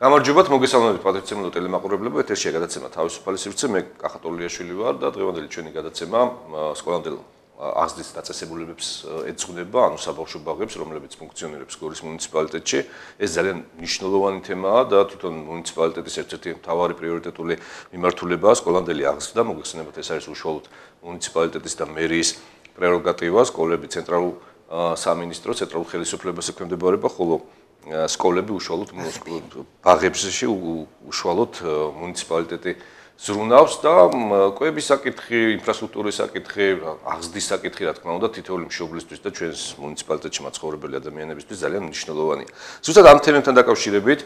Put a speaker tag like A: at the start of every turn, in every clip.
A: გამარჯობათ, მოგესალმებით პატრიცემულო ტელემაყურებლებო, ეთერშია გადაცემა თავისუფალი სივრცე, მე კახა ტოლიაშვილი ვარ და დღევანდელი ჩვენი გადაცემა სკოლამდელ აღზრდის დაწესებულებებს ეძღვნება, ანუ საბავშვო ბაღებს, რომლებიც ფუნქციონირებს გორის მუნიციპალიტეტში. ეს ძალიან მნიშვნელოვანი თემაა და თვითონ მუნიციპალიტეტის ერთ-ერთი მთავარი პრიორიტეტული მიმართულებაა სკოლამდელი აღზრდა. მოგეხსენებათ, ეს არის უშუალოდ მუნიციპალიტეტის და მერიის პრეროგატივა, სკოლები ცენტრალურ სამინისტროს, ცენტრალურ ხელისუფლებას ექვემდებარება, ხოლო სკოლები უშუალოდ ბაღებში უშუალოდ მუნიციპალიტეტი ზრუნავს და კვების საკითხი, ინფრასტრუქტურის საკითხი, აღზრდის საკითხი, რა თქმა უნდა, თითოეული მშობლისთვის და ჩვენს მუნიციპალიტეტში მაცხოვრებელი ადამიანებისთვის ძალიან მნიშვნელოვანია. ზუსტად ამ თემებთან დაკავშირებით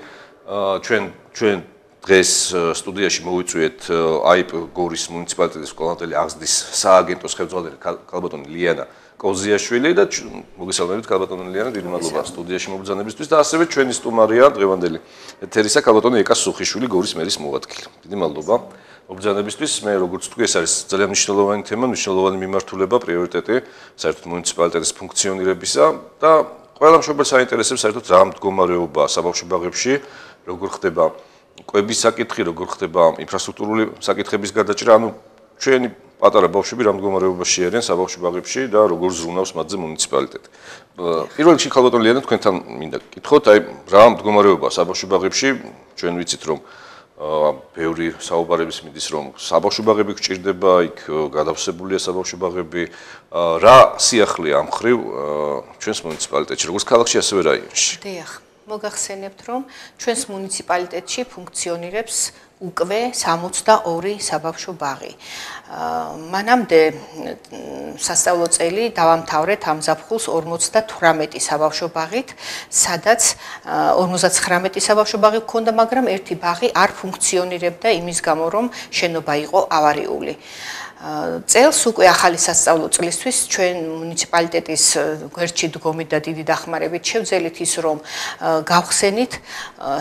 A: ჩვენ დღეს სტუდიაში მოვიწვიეთ აიპ გორის მუნიციპალიტეტის სკოლამდელი აღზრდის სააგენტოს ხელმძღვანელი ქალბატონი ლიანა კოზიაშვილი და მოგესალმებით ქალბატონი ლიანა, დიდი მადლობა სტუდიაში მობრძანებისთვის და ასევე ჩვენი სტუმარია დღევანდელი ეთერისა ქალბატონი ეკა სუხიშვილი გორის მერის მოადგილე. დიდი მადლობა მობრძანებისთვის. მე როგორც თქვი, ეს არის ძალიან მნიშვნელოვანი თემა, მნიშვნელოვანი მიმართულება, პრიორიტეტი საერთოდ მუნიციპალიტეტის ფუნქციონირებისა და ყველა მშობელს აინტერესებს საერთოდ რა მდგომარეობაა საბავშვო ბაღებში, როგორ ხდება კვების საკითხი, როგორ ხდება ინფრასტრუქტურული საკითხების გადაჭრა, ანუ ჩვენი პატარა ბავშვები რა მდგომარეობაში არიან საბავშვო ბაღებში და როგორ ზრუნავს მათზე მუნიციპალიტეტი. პირველ რიგში ქალბატონ ლიანა, თქვენთან მინდა გკითხოთ, აი რა მდგომარეობაა საბავშვო ბაღებში, ჩვენ ვიცით რომ ბევრი საუბარების მიდის რომ საბავშვო ბაღები გჭირდება, იქ გადავსებულია საბავშვო ბაღები, რა სიახლეა ამ ხრივ ჩვენს მუნიციპალიტეტში, როგორც ქალაქში, ასევე რაიონში.
B: დიახ, მოგახსენებთ რომ ჩვენს მუნიციპალიტეტში ფუნქციონირებს უკვე 62 საბავშვო ბაღი. მანამდე სასწავლო წელი დავამთავრეთ ამ ზაფხულს 58 საბავშვო ბაღით, სადაც 59 საბავშვო ბაღი გქონდა, მაგრამ ერთი ბაღი არ ფუნქციონირებდა იმის გამო, რომ შენობა იყო ავარიული. წელს უკვე ახალი სასწავლო წლისთვის ჩვენ მუნიციპალიტეტის გვერდში დგომით და დიდი დახმარებით შევძელით ის, რომ გავხსენით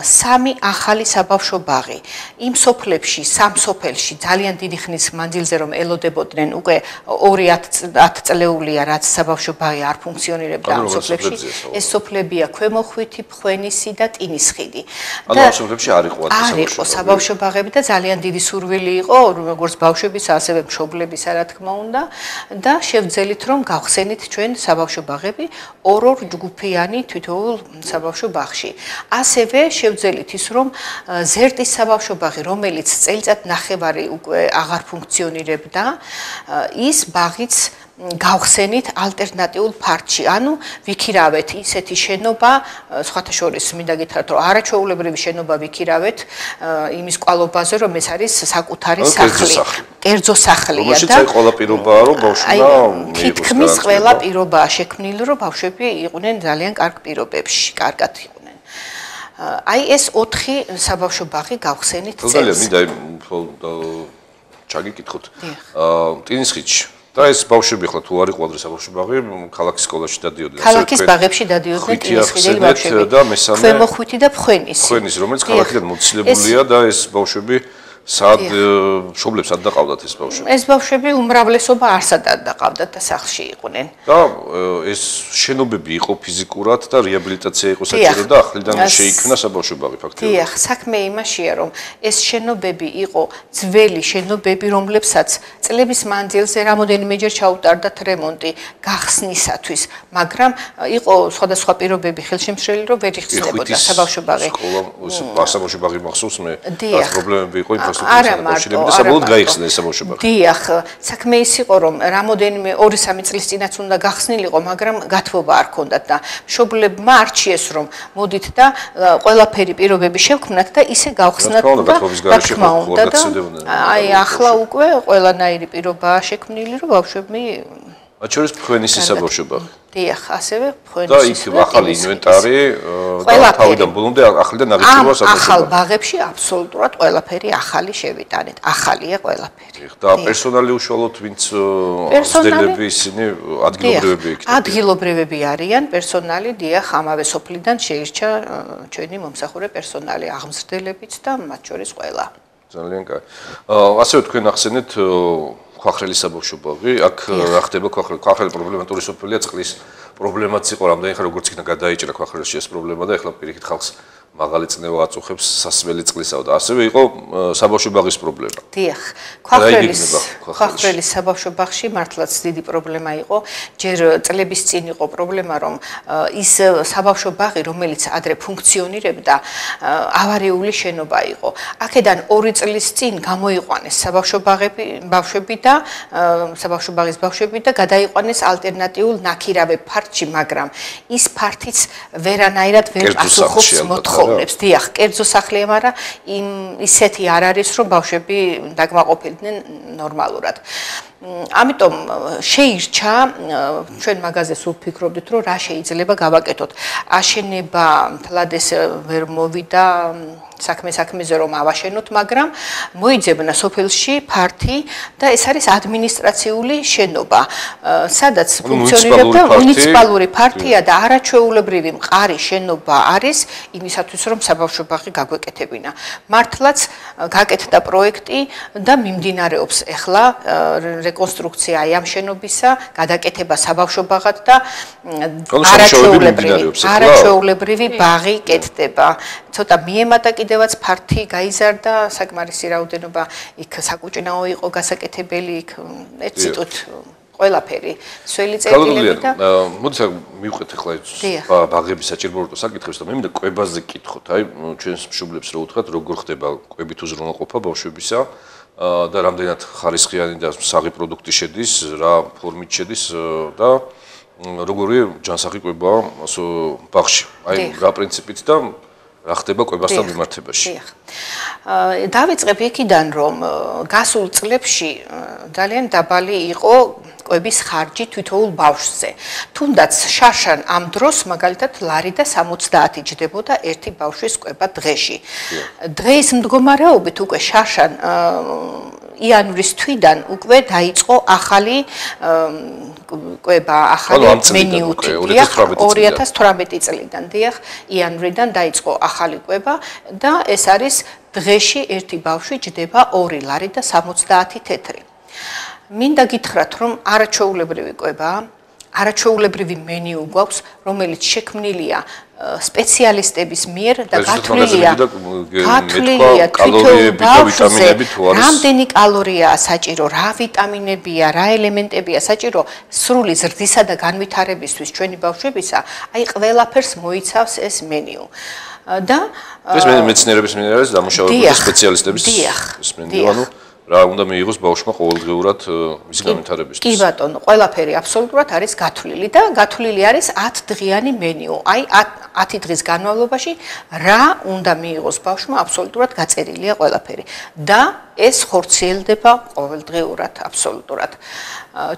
B: 3 ახალი საბავშვო ბაღი. იმ სოფლებში, სამ სოფელში ძალიან დიდი ხნის მანძილზე რომ ელოდებოდნენ, უკვე 2 წლეულია, რაც საბავშვო ბაღი არ ფუნქციონირებდა ამ სოფლებში. ეს სოფლებია ქვემოხვითი, ფხვენისი და ტინისხიდი.
A: ანუ ამ სოფლებში არ იყო
B: საბავშვო ბაღები და ძალიან დიდი სურვილი იყო, როგორც ბავშვების, ასევე მშობლებისა, რა თქმა უნდა, და შევძელით რომ გავხსენით ჩვენ საბავშვო ბაღები ორ ჯგუფიანი თითოეულ საბავშვო ბაღში. ასევე შევძელით ის, რომ ზერტის საბავშვო ბაღი, რომელიც წელიწად ნახევარი უკვე აღარ ფუნქციონირებდა, ის ბაღიც გავხსენით ალტერნატიულ ფარდში. ანუ ვიქირავეთ ისეთი შენობა, სხვათა შორის მინდა გითხრათ, რომ არაჩვეულებრივი შენობა ვიქირავეთ იმის კვალობაზე, რომ ეს არის საკუთარი სახლი, კერძო სახლია და
A: ყველა პირობაა, რომ ბავშვმა
B: თითქმის ყველა პირობაა შექმნილი, რომ ბავშვები იყვნენ ძალიან კარგ პირობებში, კარგად იყვნენ. აი ეს 4 საბავშვო ბაღი გავხსენით წელს.
A: ძალიან მინდა ჩაგიკითხოთ. ტინისხიდში და ეს ბავშვები ხლა თუ არ იყო ადრე საბავშვო ბაღი, ქალაქის სკოლაში დადიოდნენ.
B: ქალაქის ბაღებში დადიოდნენ ტინისხიდელი ბავშვები.
A: და მესამე
B: ქვემოხვითი და ფხვენისი.
A: ფხვენისი, რომელიც ქალაქიდან მოცილებულია და ეს ბავშვები სად მშობლებს არ დაყავდათ ეს ბავშვები?
B: ეს ბავშვები უმრავლესობა არსად არ დაყავდათ და სახლში იყვნენ.
A: და ეს შენობები იყო ფიზიკურად და რეაბილიტაცია იყო საჭირო და ახლიდან შეიქმნა საბავშვო ბაღი ფაქტობრივად.
B: დიახ, საქმე იმაშია, რომ ეს შენობები იყო ძველი შენობები, რომლებსაც წლების მანძილზე რამოდენიმეჯერ ჩაუტარდათ რემონტი გახსნისათვის, მაგრამ იყო სხვადასხვა პირობები ხელშემშლელი, რომ ვერ იხსნებოდა საბავშვო ბაღი.
A: საბავშვო ბაღი მახსოვს მე,
B: დიახ,
A: პრობლემები იყო და საბოლოოდ გაიხსნა ეს საბავშვო ბაღი.
B: დიახ, საქმე ის იყო, რომ რამოდენიმე 2-3 წლის წინაც უნდა გახსნილიყო, მაგრამ გათბობა არ ჰქონდათ და მშობლებმა არჩიეს, რომ მოდით და ყველაფერი პირობები შევქმნათ და ისე გავხსნათ და რა თქმა უნდა და აი ახლა უკვე ყველანაირი პირობაა შექმნილი, რომ ბავშვები
A: მათ შორის ფხვენისის საბავშვო ბაღი.
B: დიახ, ასევე ფხვენისის.
A: და იქ ახალი ინვენტარი თავიდან ბოლომდე ახლიდან აღიქვება საბავშვო
B: ახალ ბაღებში აბსოლუტურად ყველაფერი ახალი შევიტანეთ. ახალია ყველაფერი.
A: და პერსონალი უშუალოდ ვინც აღზრდელები ისინი ადგილობრივები იქნება.
B: ადგილობრივები არიან პერსონალი, დიახ, ამავე სოფლიდან შეირჩა ჩვენი მომსახურე პერსონალი, აღმზრდელებიც და მათ შორის ყველა.
A: ძალიან კარგი. ასევე თქვენ ახსენეთ ქვახრელი საბავშვო ბაღი, აქ რა ხდება ქვახრელი პრობლემატური სოფელია, წყლის პრობლემაც იყო, რამდენი ხანი როგორც იქნა გადაიჭრა ქვახრელში ეს პრობლემა და ეხლა პირიქით ხალხს მაღალი წნევა აწუხებს სასმელი წყლისაო და ასევე იყო საბავშვო ბაღის პრობლემა.
B: დიახ, ქვახვრელის საბავშვო ბაღში მართლაც დიდი პრობლემა იყო. ჯერ წლების წინ იყო პრობლემა, რომ ის საბავშვო ბაღი, რომელიც ადრე ფუნქციონირებდა, ავარიული შენობა იყო. აქედან 2 წლის წინ გამოიყვანეს საბავშვო ბაღის ბავშვები და გადაიყვანეს ალტერნატიულ ნაქირავე ფართში, მაგრამ ის ფართიც ვერანაირად ვერ პასუხობს მოთხოვნებს. დიახ, კერძო სახლია, მაგრამ ისეთი არ არის, რომ ბავშვები დაკმაყოფილდნენ ნორმალურად. ამიტომ შეირჩა, ჩვენ მაგაზე სულ ფიქრობდით, რომ რა შეიძლება გავაკეთოთ. აშენება მთლადეს ვერ მოვიდა საქმეზე რომ ავაშენოთ, მაგრამ მოიძებნა სოფელში ფართი და ეს არის ადმინისტრაციული შენობა, სადაც ფუნქციონირებდა მუნიციპალური ფართია და არაჩვეულებრივი მყარი შენობა არის იმისათვის, რომ საბავშვო ბაღი გაგვეკეთებინა. მართლაც გაკეთდა პროექტი და მიმდინარეობს ახლა რეკონსტრუქცია ამ შენობისა, გადაკეთება საბავშვო ბაღად და არაჩვეულებრივი ბაღი კეთდება. ცოტა მიემატა კიდევაც ფართი გაიზარდა, საკმარისი რაოდენობა იქ საკუჭინაო იყო გასაკეთებელი, იქ ერთ სიტყვით ყველაფერი სველი წერტილები და
A: მოდი მივყვეთ ახლა ბაღების საჭიროებო საკითხებს და მე მინდა კვებაზე გკითხოთ. აი ჩვენს მშობლებს რო უთხრათ, როგორ ხდება კვებით უზრუნველყოფა ბავშვებისა და რამდენად ხარისხიანი და საღი პროდუქტი შედის, რა ფორმით შედის და როგორი ჯანსაღი კვებაა ბაღში. აი რა პრინციპით და რა ხდება კვებასთან მიმართებაში.
B: დავიწყებ იქიდან, რომ გასულ წლებში ძალიან დაბალი იყო კვების ხარჯი თითოეულ ბავშვზე. თუნდაც შარშან ამ დროს მაგალითად ლარი და 70 ჯდებოდა ერთი ბავშვის კვება დღეში. დღეის მდგომარეობით უკვე შარშან იანვრის თვიდან უკვე დაიწყო ახალი კვება, ახალი მენიუთი. 2018 წლიდან, დიახ, იანვრიდან დაიწყო ახალი კვება და ეს არის დღეში ერთი ბავშვი ჯდება 2 ლარი და 70 თეთრი. მინდა გითხრათ, რომ არაჩვეულებრივი კვებაა, არაჩვეულებრივი მენიუ გვაქვს, რომელიც შექმნილია სპეციალისტების მიერ და გათვლილია თითოეულ ბავშვზე, რამდენი კალორიაა საჭირო, რა ვიტამინებია, რა ელემენტებია საჭირო სრული ზრდისა და განვითარებისთვის ჩვენი ბავშვებისა, აი ყველაფერს მოიცავს ეს მენიუ. და
A: ეს მეცნიერების დამუშავებული სპეციალისტების მენიუ, ანუ რა უნდა მიიღოს ბავშვმა ყოველდღიურად მის განვითარებისთვის.
B: კი ბატონო, ყველაფერი აბსოლუტურად არის გათვლილი და გათვლილი არის 10 დღიანი მენიუ. აი 10 დღის განმავლობაში რა უნდა მიიღოს ბავშვმა აბსოლუტურად გაწერილია ყველაფერი. და ეს ხორციელდება ყოველდღიურად აბსოლუტურად.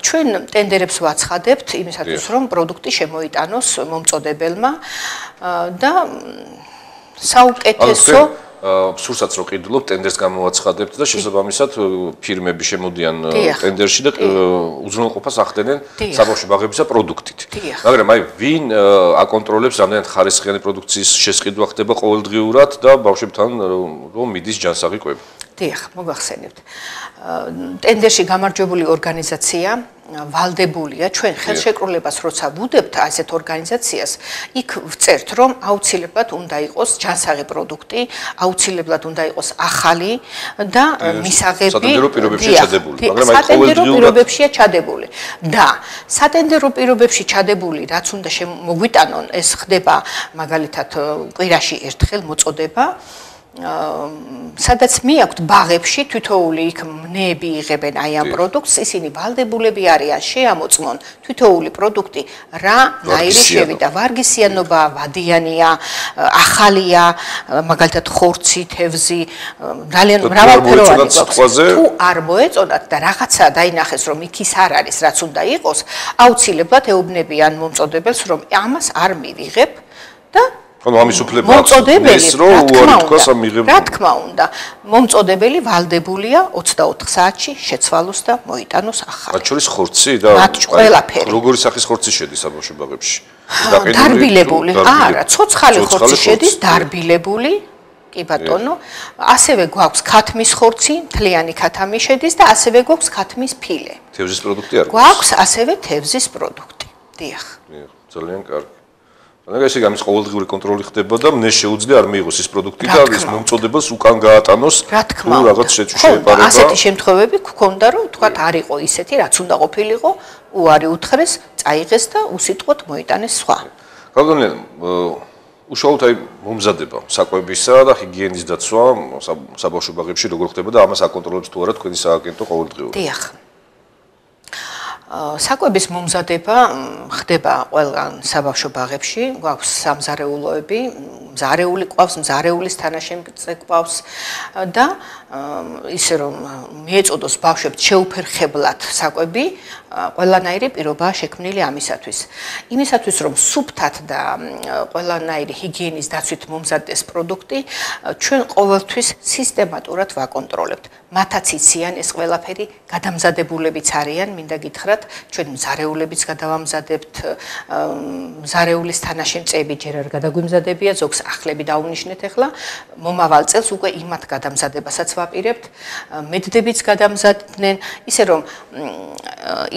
B: ჩვენ ტენდერებს ვაცხადებთ იმისათვის, რომ პროდუქტი შემოიტანოს მომწოდებელმა და საუკეთესო
A: სურსაც რო ყიდულობ ტენდერს გამოვაცხადებთ და შესაბამისად ფირმები შემოდიან ტენდერში და უზრუნველყოფას ახდენენ საბავშვო ბაღებისა პროდუქტით. მაგრამ აი ვინ აკონტროლებს რამდენად ხარისხიანი პროდუქციის შესყიდვა ხდება ყოველდღიურად და ბავშვებთან რომ მიდის ჯანსაღი კვება.
B: დიახ, მოგახსენებთ. ტენდერში გამარჯვებული ორგანიზაცია ვალდებულია, ჩვენ ხელშეკრულებას როცა ვუდებთ ასეთ ორგანიზაციას, იქ ვწერთ, რომ აუცილებლად უნდა იყოს ჯანსაღი პროდუქტი, აუცილებლად უნდა იყოს ახალი და მისაღები
A: სატენდერო პირობებშია ჩადებული,
B: მაგრამ აი სატენდერო პირობებშია ჩადებული. და სატენდერო პირობებში ჩადებული, რაც უნდა მოგვიტანონ, ეს ხდება მაგალითად კვირაში ერთხელ მოწოდება. სადაც მიაქვთ ბაღებში თითოეული იქ მნები იღებენ აი ამ პროდუქტს, ისინი ვალდებულები არიან შეამოწმონ თითოეული პროდუქტი რა ნაირი შევიდა, ვარგისიანობა, ვადიანია, ახალია, მაგალითად ხორცი, თევზი, ძალიან მრავალფეროვანი გვაქვს. თუ არ მოეწონათ და რაღაცა დაინახეს, რომ იქ ის არ არის, რაც უნდა იყოს, აუცილებლად ეუბნებიან მომწოდებელს, რომ ამას არ მივიღებ და
A: ანუ ამის უფლება აქვს,
B: რა თქმა უნდა, მომწოდებელი ვალდებულია 24 საათში შეცვალოს და მოიტანოს ახალი.
A: მათ შორის ხორცი და
B: ყველაფერი.
A: როგორი სახის ხორცი შედის საბავშვო ბაღებში?
B: დარბილებული, არა, ცოცხალი ხორცი შედის, დარბილებული. კი ბატონო, ასევე გვაქვს ქათმის ხორცი, მთლიანი ქათამი შედის და ასევე გვაქვს ქათმის ფილე.
A: თევზის პროდუქტი არ
B: გვაქვს ასევე თევზის პროდუქტი. დიახ.
A: ძალიან კარგი. ანუ ესე გამის ყოველდღიური კონტროლი ხდება და მე შეუძლია არ მიიღოს ის პროდუქტი და ის მომწოდებას უკან გაატანოს თუ რაღაც შეეპარება.
B: ასეთი შემთხვევები გქონდა რომ თქვათ არ იყო ისეთი რაც უნდა ყოფილიყო, უარი უთხრეს, წაიღეს და უსიტყვოდ მოიტანეს სხვა.
A: გაგონია უშუალოდ აი მომზადება საკვებისა და ჰიგიენის დაცვა საბავშვო ბაღებში როგორ ხდება და ამას აკონტროლებს თუ არა თქვენი სააგენტო ყოველდღიურად?
B: დიახ. საკვების მომზადება ხდება ყველგან საბავშვო ბაღებში, გვაქვს სამზარეულოები, მზარეული ყავს, მზარეულის თანაშემწე ყავს და ისე რომ მიეწოდოს ბავშვებს შეუფერხებლად საკვები, ყველანაირი პირობაა შექმნილი ამისათვის. იმისათვის რომ სუფთად და ყველანაირი ჰიგიენის დაცვით მომზადდეს პროდუქტი, ჩვენ ყოველთვის სისტემატურად ვაკონტროლებთ. მათაც იციან ეს ყველაფერი, გადამზადებულებიც არიან, მინდა გითხრათ, ჩვენ მზარეულებიც გადავამზადებთ, მზარეულის თანაშემწეები ჯერ არ გადაგვიმზადებია, ზოგს ახლები დავუნიშნეთ ახლა, მომავალ წელს უკვე იმათ გადამზადებასაც ვაპირებთ, მედდებიც გადამზადდნენ, ისე რომ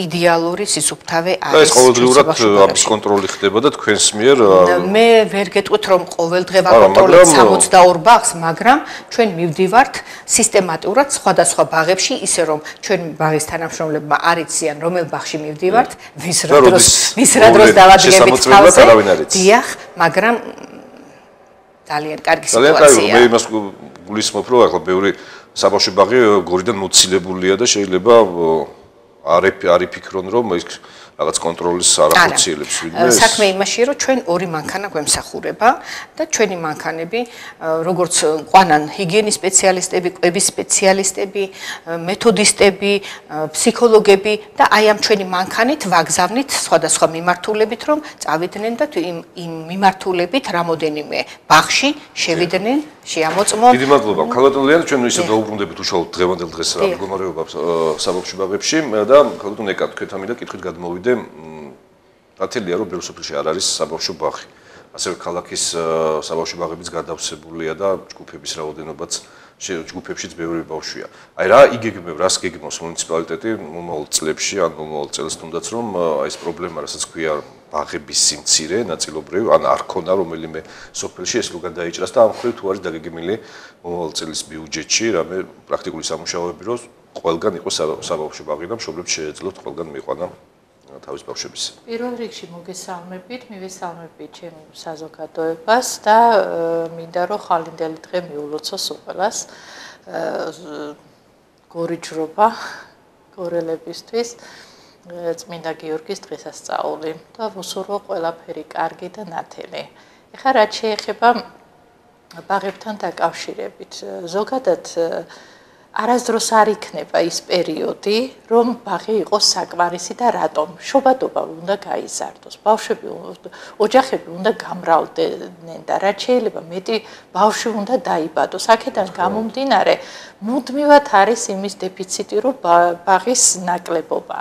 B: იდეალური სისუფთავე არის.
A: ეს ყოველდღიურად ამის კონტროლი ხდება და თქვენს მიერ
B: მე ვერ გეტყვით რომ ყოველდღე ვაკონტროლებთ 62 ბაღს, მაგრამ ჩვენ მივდივართ სისტემატურად სხვადასხვა ბაღებში, ისე რომ ჩვენ ბაღის თანამშრომლებმა არ იციან რომელ ბაღში მივდივართ, ვის რა დროს დავადგებით თავზე. დიახ, მაგრამ ძალიან კარგი სიტუაცია.
A: მე იმას გულისხმობ რომ ახლა ბევრი საბავშვო ბაღი გორიდან მოცილებულია და შეიძლება არ იფიქრონ რომ ის რაღაც კონტროლის არ ახორციელებს ვინმე.
B: საქმე იმაშია რომ ჩვენ ორი მანქანა გვემსახურება და ჩვენი მანქანები როგორც ყვანან ჰიგიენის სპეციალისტები, კვების სპეციალისტები, მეთოდისტები, ფსიქოლოგები და აი ამ ჩვენი მანქანით ვაგზავნით სხვადასხვა მიმართულებით რომ წავიდნენ და იმ მიმართულებით რამოდენიმე ბაღში შევიდნენ, შეამოწმონ.
A: დიდი მადლობა. ქალბატონლიანი, ჩვენ ისე დაუბრუნდებით უშუალოდ დღევანდელ დღეს რა მდგომარეობა საბავშვო ბაღებში და ქალბატონ ეკა თქვენთან მინდა კითხვით გადმოვიდე. დათელია რომ ბევრ სოფელში არ არის საბავშვო ბაღი. ასევე ქალაქის საბავშვო ბაღებიც გადავსებულია და ჯგუფების რაოდენობაც ჯგუფებშიც ბევრი ბავშვია. აი რა იგეგმებ, რას გეგმავს მუნიციპალიტეტი მომავალ წლებში, ან მომავალ წელს თუნდაც რომ აი ეს პრობლემა, რასაც ქვია ბაღების სიმცირე ნაწილობრივ, ან არ ქონდა რომელიმე სოფელში ეს როგორ დაიჭრას და ამ ხრივ თუ არის დაგეგმილი მომავალ წლის ბიუჯეტში, რამე პრაქტიკული სამუშაოები რომ ყველგან იყოს საბავშვო ბაღი და მშობლებს შეეძლოთ ყველგან მიიყვანა თავის ბავშვების.
C: პირველ რიგში მოგესალმებით, მივესალმებით ჩემ საზოგადოებას და მინდა რომ ხალინდელი დღე მიულოცოს უყველას გორიჯრობა გორელებისთვის წმინდა გიორგის დღესასწაული და ვუსურვო ყველაფერი კარგი და ნათელი. ეხლა რაც შეეხება ბაღებთან დაკავშირებით, ზოგადად არასდროს არ იქნება ის პერიოდი, რომ ბაღი იყოს საკმარისი და რატომ? შობადობა უნდა გაიზარდოს. ბავშვები, ოჯახები უნდა გამრავლდნენ და რაც შეიძლება მეტი ბავშვი უნდა დაიბადოს. აქედან გამომდინარე, მუდმივად არის იმის დეფიციტი, რომ ბაღის ნაკლებობა.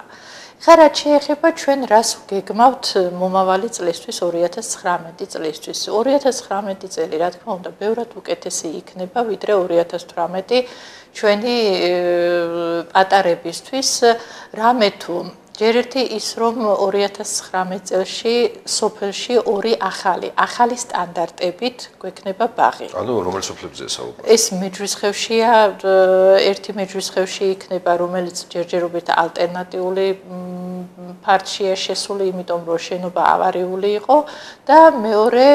C: ხა რაც შეეხება ჩვენ რას გეგმავთ მომავალი წლისთვის 2019 წლისთვის. 2019 წელი რა თქმა უნდა ბევრად უკეთესი იქნება ვიდრე 2018 ჩვენი პატარებისთვის, რამე თუ ჯერ ერთი ის რომ 2019 წელში სოფელში ორი ახალი სტანდარტებით გვექნება ბაღი.
A: ანუ რომელ სოფლებზეა საუბარი?
C: ეს მეჯვრისხევშია, ერთი მეჯვრისხევში იქნება, რომელიც ჯერჯერობით ალტერნატიული ფარდშია შესული, იმიტომ რომ შენობა ავარიული იყო და მეორე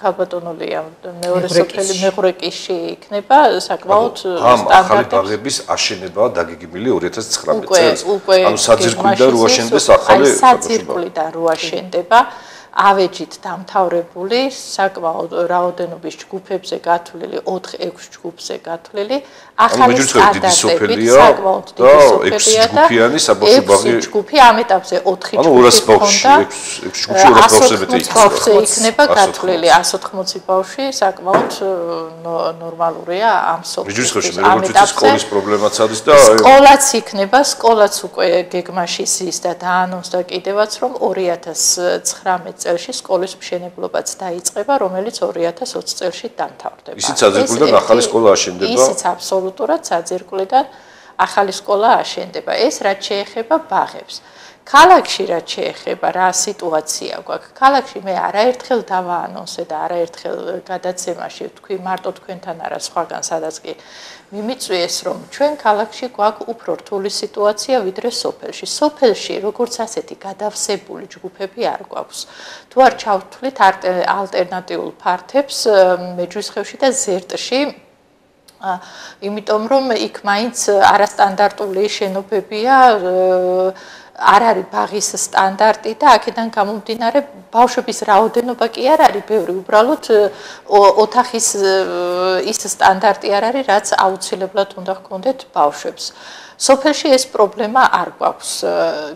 C: ქალბატონოლია, მეორე სოფელი მეღრეკიში იქნება საკმაოდ
A: სტანდარტები. ახალი ბაღების აშენება დაგეგმილი 2019 წელს. ანუ საძირკვლიდან რო აშენდეს ახალი
C: საძირკვლიდან რო აშენდება ავეჯით დამთავრებული საკმაოდ რაოდენობის ჯგუფებზე გათვლილი 4-6 ჯგუფზე გათვლილი ახალი სტანდარტები საკმაოდ დიდი სოფელია და 6 ჯგუფი ამ ეტაპზე 4 ჯგუფი
A: ჰქონდა 6
C: ბავშვზე იქნება გათვლილი 180 ბავშვი საკმაოდ ნორმალურია ამ სოფელში
A: ამ ეტაპზე სკოლის პრობლემაც არის და
C: სკოლაც იქნება სკოლაც უკვე გეგმაში ის და დაანონსდა კიდევაც რომ 2019 წელში სკოლის მშენებლობაც დაიწყება, რომელიც 2020 წელში დამთავრდება.
A: ისიც საძირკვლიდან ახალი სკოლა აშენდება.
C: ისიც აბსოლუტურად საძირკვლიდან ახალი სკოლა აშენდება. ეს რაც შეეხება ბაღებს. ქალაქში რაც შეეხება რა სიტუაცია გვაქვს. ქალაქში მე არაერთხელ დავაანონსე და არაერთხელ გადაცემაში თქვი მარტო თქვენთან არა სხვაგან სადაც კი მიმიწვიეს რომ ჩვენ ქალაქში გვაქვს უფრო რთული სიტუაცია ვიდრე სოფელში. სოფელში როგორც ასეთი გადავსებული ჯგუფები არ გვაქვს. თუ არ ჩავთვლით ალტერნატიულ ფართებს მეჯვისხევში და ზერტში იმიტომ რომ იქ მაინც არასტანდარტული შენობებია არ არის ბაღის სტანდარტი და აქედან გამომდინარე ბავშვების რაოდენობა კი არ არის ბევრი უბრალოდ ოთახის ის სტანდარტი არ არის რაც აუცილებლად უნდა ჰქონდეთ ბავშვებს სოფელში ეს პრობლემა არ გვაქვს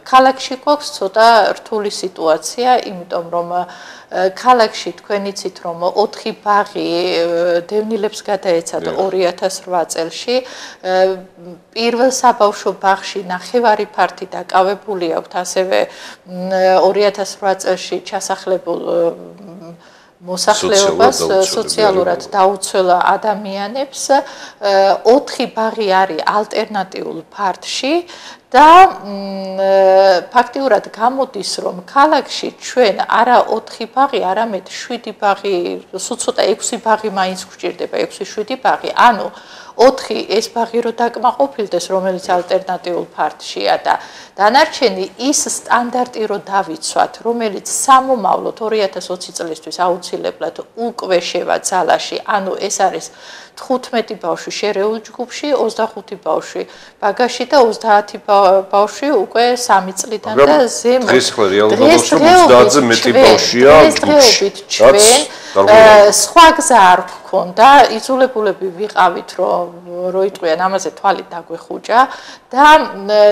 C: ქალაქში გვაქვს ცოტა რთული სიტუაცია იმიტომ რომ ქალაქში თქვენ იცით რომ 4 ბაღი დევნილებს გადაეცათ 2008 წელში პირველ საბავშვო ბაღში ნახევარი ფართი დაკავებული აქვს ასევე 2008 წელში ჩასახლებულ მოსახლეობას სოციალურად დაუცველ ადამიანებს 4 ბაღი არის ალტერნატიულ ფართში და ფაქტიურად გამოდის რომ ქალაქში ჩვენ არა 4 ბაღი, არამედ 7 ბაღი, სულ ცოტა 6 ბაღი მაინც გვჭირდება, 6-7 ბაღი. ანუ 4 ეს ბაღი რო დაკმაყოფილდეს, რომელიც ალტერნატიულ ფართშია და დანარჩენი ის სტანდარტი რო დავიცვათ, რომელიც სამომავლოდ 2020 წლისთვის აუცილებლად უკვე შევა ძალაში, ანუ ეს არის 15 ბავშვი შერეულ ჯგუფში, 25 ბავშვი ბაგაში და 30 ბავშვი უკვე 3 წლიდან და ზემოთ.
A: დღეს ხო რეალურად 30-ზე მეტი ბავშვია ჯგუფში.
C: სხვა გზა არ გქონდა, იძულებულები ვიყავით, რომ როიტყვიან ამაზე თვალი დაგვეხუჭა და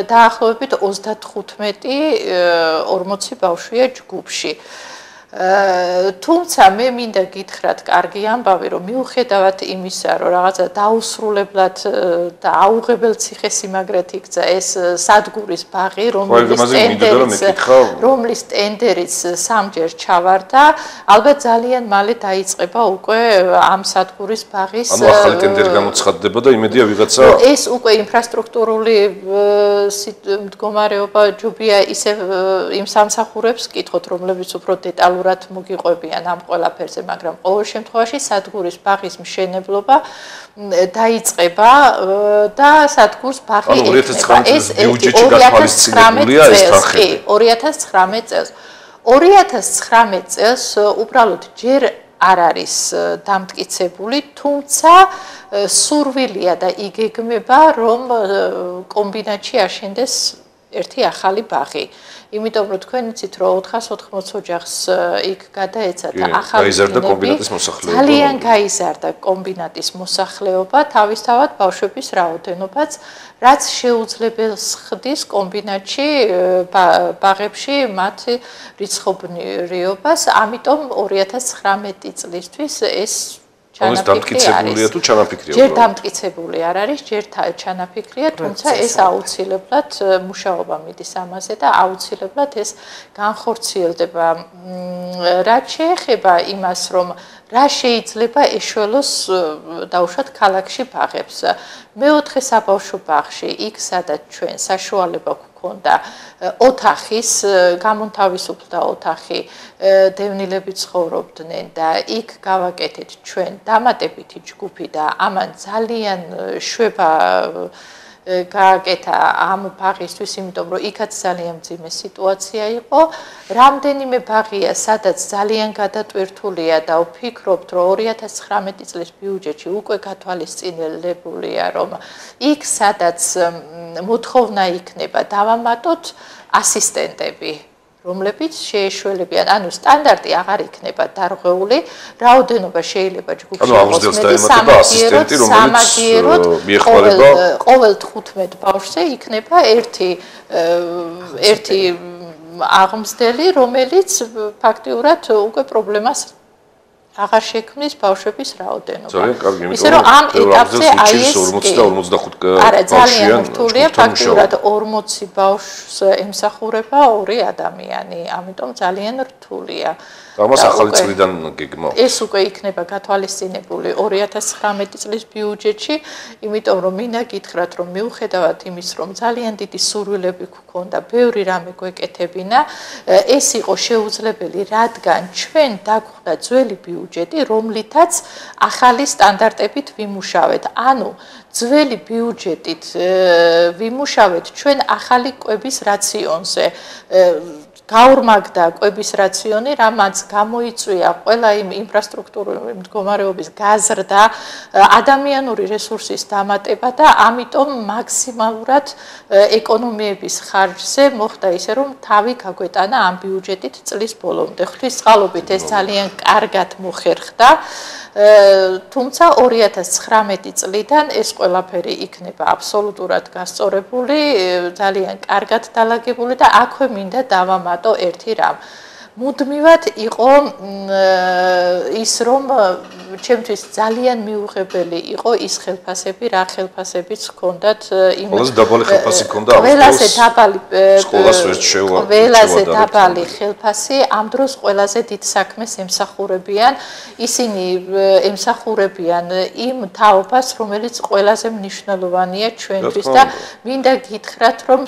C: დაახლოებით 35-40 ბავშვია ჯგუფში. თუმცა მე მინდა გითხრათ კარგი ამბავი რომ მიუხედავად იმისა რომ რაღაცა დაუსრულებლად და აუღებელ ციხესიმაგრედ იქცა ეს სადგურის ბაღი რომლის ტენდერიც სამჯერ ჩავარდა ალბათ ძალიან მალე დაიწყება უკვე ამ სადგურის ბაღის
A: ანუ ახალი ტენდერი გამოცხადდება და იმედია ვიღაცა
C: ეს უკვე ინფრასტრუქტურული მდგომარეობა ჯობია ისე იმ სამსახურებს კითხოთ რომლებიც უფრო დეტალურად მოგიყვებიან ამ ყველაფერზე, მაგრამ ყოველ შემთხვევაში სადგურის ბაღის მშენებლობა დაიწყება და სადგურს ბაღი ექნება. ეს 2019 წელს. 2019 წელს უბრალოდ ჯერ არ არის დამტკიცებული, თუმცა სურვილია და იგეგმება, რომ კომბინატში აშენდეს ერთი ახალი ბაღი. იმიტომ რომ თქვენ იცით რომ 480 ოჯახს იქ გადაეცა და ახალი ძალიან გაიზარდა კომბინატის მოსახლეობა, თავისთავად ბავშვების რაოდენობაც, რაც შეუძლებელს ხდის კომბინატში ბაღებში მათ რიცხობრიობას, ამიტომ 2019 წლისთვის ეს
A: დამტკიცებულია თუ ჩანაფიქრია?
C: ჯერ დამტკიცებული არ არის, ჯერ ჩანაფიქრია, თუმცა ეს აუცილებლად მუშაობა მიდის ამაზე და აუცილებლად ეს განხორციელდება. რაც შეეხება იმას, რომ რა შეიძლება ეშველოს დაუშვათ ქალაქში ბაღებს. მეოთხე საბავშვო ბაღში, იქ სადაც ჩვენ საშუალება გქონდა ოთახის, გამონთავისუფლდა ოთახი, დევნილები ცხოვრობდნენ და იქ გავაკეთეთ ჩვენ დამატებითი ჯგუფი და ამან ძალიან შვება გააკეთა ამ ბაღისთვის, იმიტომ რომ იქაც ძალიან მძიმე სიტუაცია იყო. რამდენიმე ბაღია, სადაც ძალიან გადატვირთულია და ვფიქრობთ, რომ 2019 წლის ბიუჯეტში უკვე გათვალისწინებულია, რომ იქ სადაც მოთხოვნა იქნება დავამატოთ ასისტენტები. რომლებიც შეეშველებიან, ანუ სტანდარტი აღარ იქნება დარღვეული, რაოდენობა შეიძლება ჯგუფში იყოს ყოველ 15 ბავშვზე იქნება ერთი აღმზრდელი, რომელიც ფაქტიურად უკვე პრობლემას აღარ შექმნის ბავშვების რაოდენობა. ისე რომ ამ ეტაპზე აი ეს
A: 40-45
C: არა ძალიან რთულია, ფაქტიურად 40 ბავშვს ემსახურება 2 ადამიანი, ამიტომ ძალიან რთულია.
A: ამას ახალი წლიდან გეგმავთ.
C: ეს უკვე იქნება გათვალისწინებული 2019 წლის ბიუჯეტში, იმიტომ რომ მინდა გითხრათ, რომ მიუხედავად იმის, რომ ძალიან დიდი სურვილები გქონდა, ბევრი რამე გვეკეთებინა, ეს იყო შეუძლებელი, რადგან ჩვენ დაგვხვდა ძველი ბიუჯეტი, რომლითაც ახალი სტანდარტებით ვიმუშავეთ. ანუ ძველი ბიუჯეტით ვიმუშავეთ ჩვენ ახალი კვების რაციონზე. გაორმაგდა კვების რაციონი, რამაც გამოიწვია ყველა იმ ინფრასტრუქტურული მდგომარეობის გაზრდა, ადამიანური რესურსის დამატება და ამიტომ მაქსიმალურად ეკონომიების ხარჯზე მოხდა ისე, რომ თავი გაგვეტანა ამ ბიუჯეტით წლის ბოლომდე. ღვთისწყალობით ეს ძალიან კარგად მოხერხდა. თუმცა 2019 წლიდან ეს ყველაფერი იქნება აბსოლუტურად გასწორებული, ძალიან კარგად დალაგებული და აქვე მინდა დავამატო ერთი რამ. მუდმივად იყო ის, რომ ჩემთვის ძალიან მიუღებელი იყო ის ხელფასები, რა ხელფასებიც ჰქონდათ იმ
A: ყველაზე დაბალი ხელფასი ჰქონდა
C: ყველაზე დაბალი
A: სკოლას ვერ შევა.
C: ყველაზე დაბალი ხელფასი ამ დროს ყველაზე დიდ საქმეს ემსახურებიან. ისინი ემსახურებიან იმ თაობას, რომელიც ყველაზე მნიშვნელოვანია ჩვენთვის და მინდა გითხრათ, რომ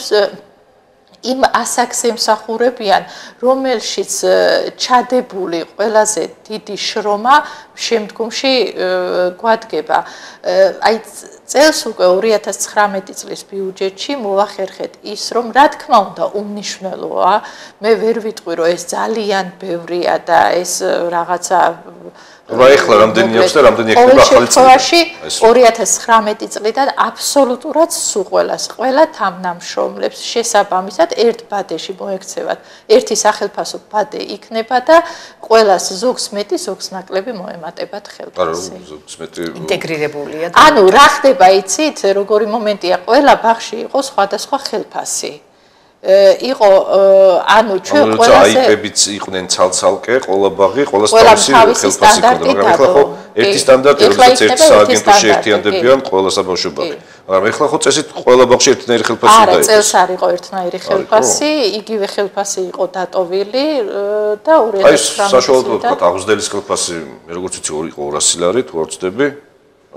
C: იმ ასაკს ემსახურებიან, რომელშიც ჩადებული ყველაზე დიდი შრომა შემდგომში გვადგება. აი წელს უკვე 2019 წლის ბიუჯეტში მოვახერხეთ ის, რომ რა თქმა უნდა უმნიშვნელოა, მე ვერ ვიტყვი, რომ ეს ძალიან ბევრია და ეს რაღაცა
A: რა ეხლა რამდენი აქვს და რამდენი იქნება ახალი
C: წელი. 2019 წლიდან აბსოლუტურად სულ ყველა თანამშრომლებს შესაბამისად ერთ ბადეში მოექცევათ. ერთი სახელფასო ბადე იქნება და ყველას ზოგს მეტი, ზოგს ნაკლები მოემატებათ ხელფასი.
B: ინტეგრირებულია.
C: ანუ რა ხდება იცით, როგორი მომენტია, ყველა ბაღში იყო სხვადასხვა ხელფასი. იყო ანუ ჩვენ ყველაზე
A: აიპებიც იყვნენ ცალ-ცალკე, ყველა ბაღი, ყველა თავისი ხელფასი ჰქონდა, მაგრამ ეხლა ხო ერთი სტანდარტი, რომელსაც ერთ სააგენტოში ერთიანდებიან ყველა საბავშვო ბაღი. მაგრამ ეხლა ხო წესით ყველა ბაღში ერთნაირი ხელფასი უნდა
C: იყოს. არა, წელს არ იყო ერთნაირი ხელფასი, იგივე ხელფასი იყო დატოვილი და 2019
A: აი საშუალოდ ვთქვათ, აღვზდელის ხელფასი, როგორც ვიცი, იყო 200 ლარი, თუ არ ვცდები.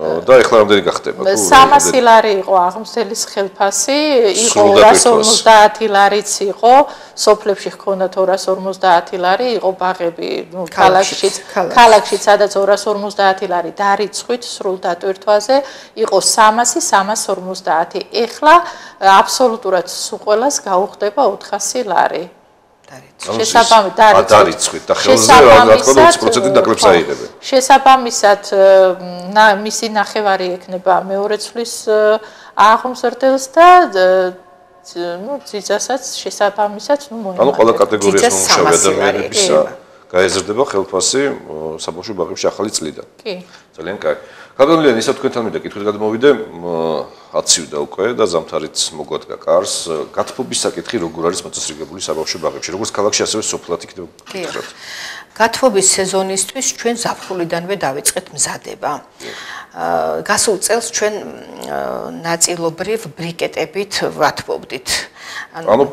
A: და ეხლა რამდენი გახდება?
C: 300 ლარი იყო აღმზრდელის ხელფასი, იყო 250 ლარიც იყო, სოფლებში ჰქონდა 250 ლარი, იყო ბაღები, ნუ ქალაქში, სადაც 250 ლარი დარიცხვით სრულ დატვირთვაზე, იყო 300, 350. ეხლა აბსოლუტურად სულ ყველას გაუხდება 400 ლარი.
A: დარიცხვით და ხელზე რა თქმა უნდა 20% ნაკლებს აიღებენ.
C: შესაბამისად მისი ნახევარი ექნება მეორე წლის აღმზრდელს და ნუ ძიძასაც შესაბამისად ნუ მოიმატება.
A: ანუ ყველა კატეგორიის მომუშავე ადამიანებისა გაეზრდება ხელფასი საბავშვო ბაღებში ახალი წლიდან.
C: კი.
A: ძალიან კარგი. კადონლიან ისა თქვენთან მინდა კითხვით გადმოვიდე, აცივდა უკვე და ზამთარიც მოგვადგა კარს. გათბობის საკითხი როგორ არის მოწესრიგებული საბავშვო ბაღებში? როგორც ქალაქში, ასევე სოფლად იქნება გითხრათ.
B: გათბობის სეზონისთვის ჩვენ ზაფხულიდანვე დავიწყეთ მზადება. გასულ წელს ჩვენ ნაწილობრივ ბრიკეტებით ვათბობდით.
A: ანუ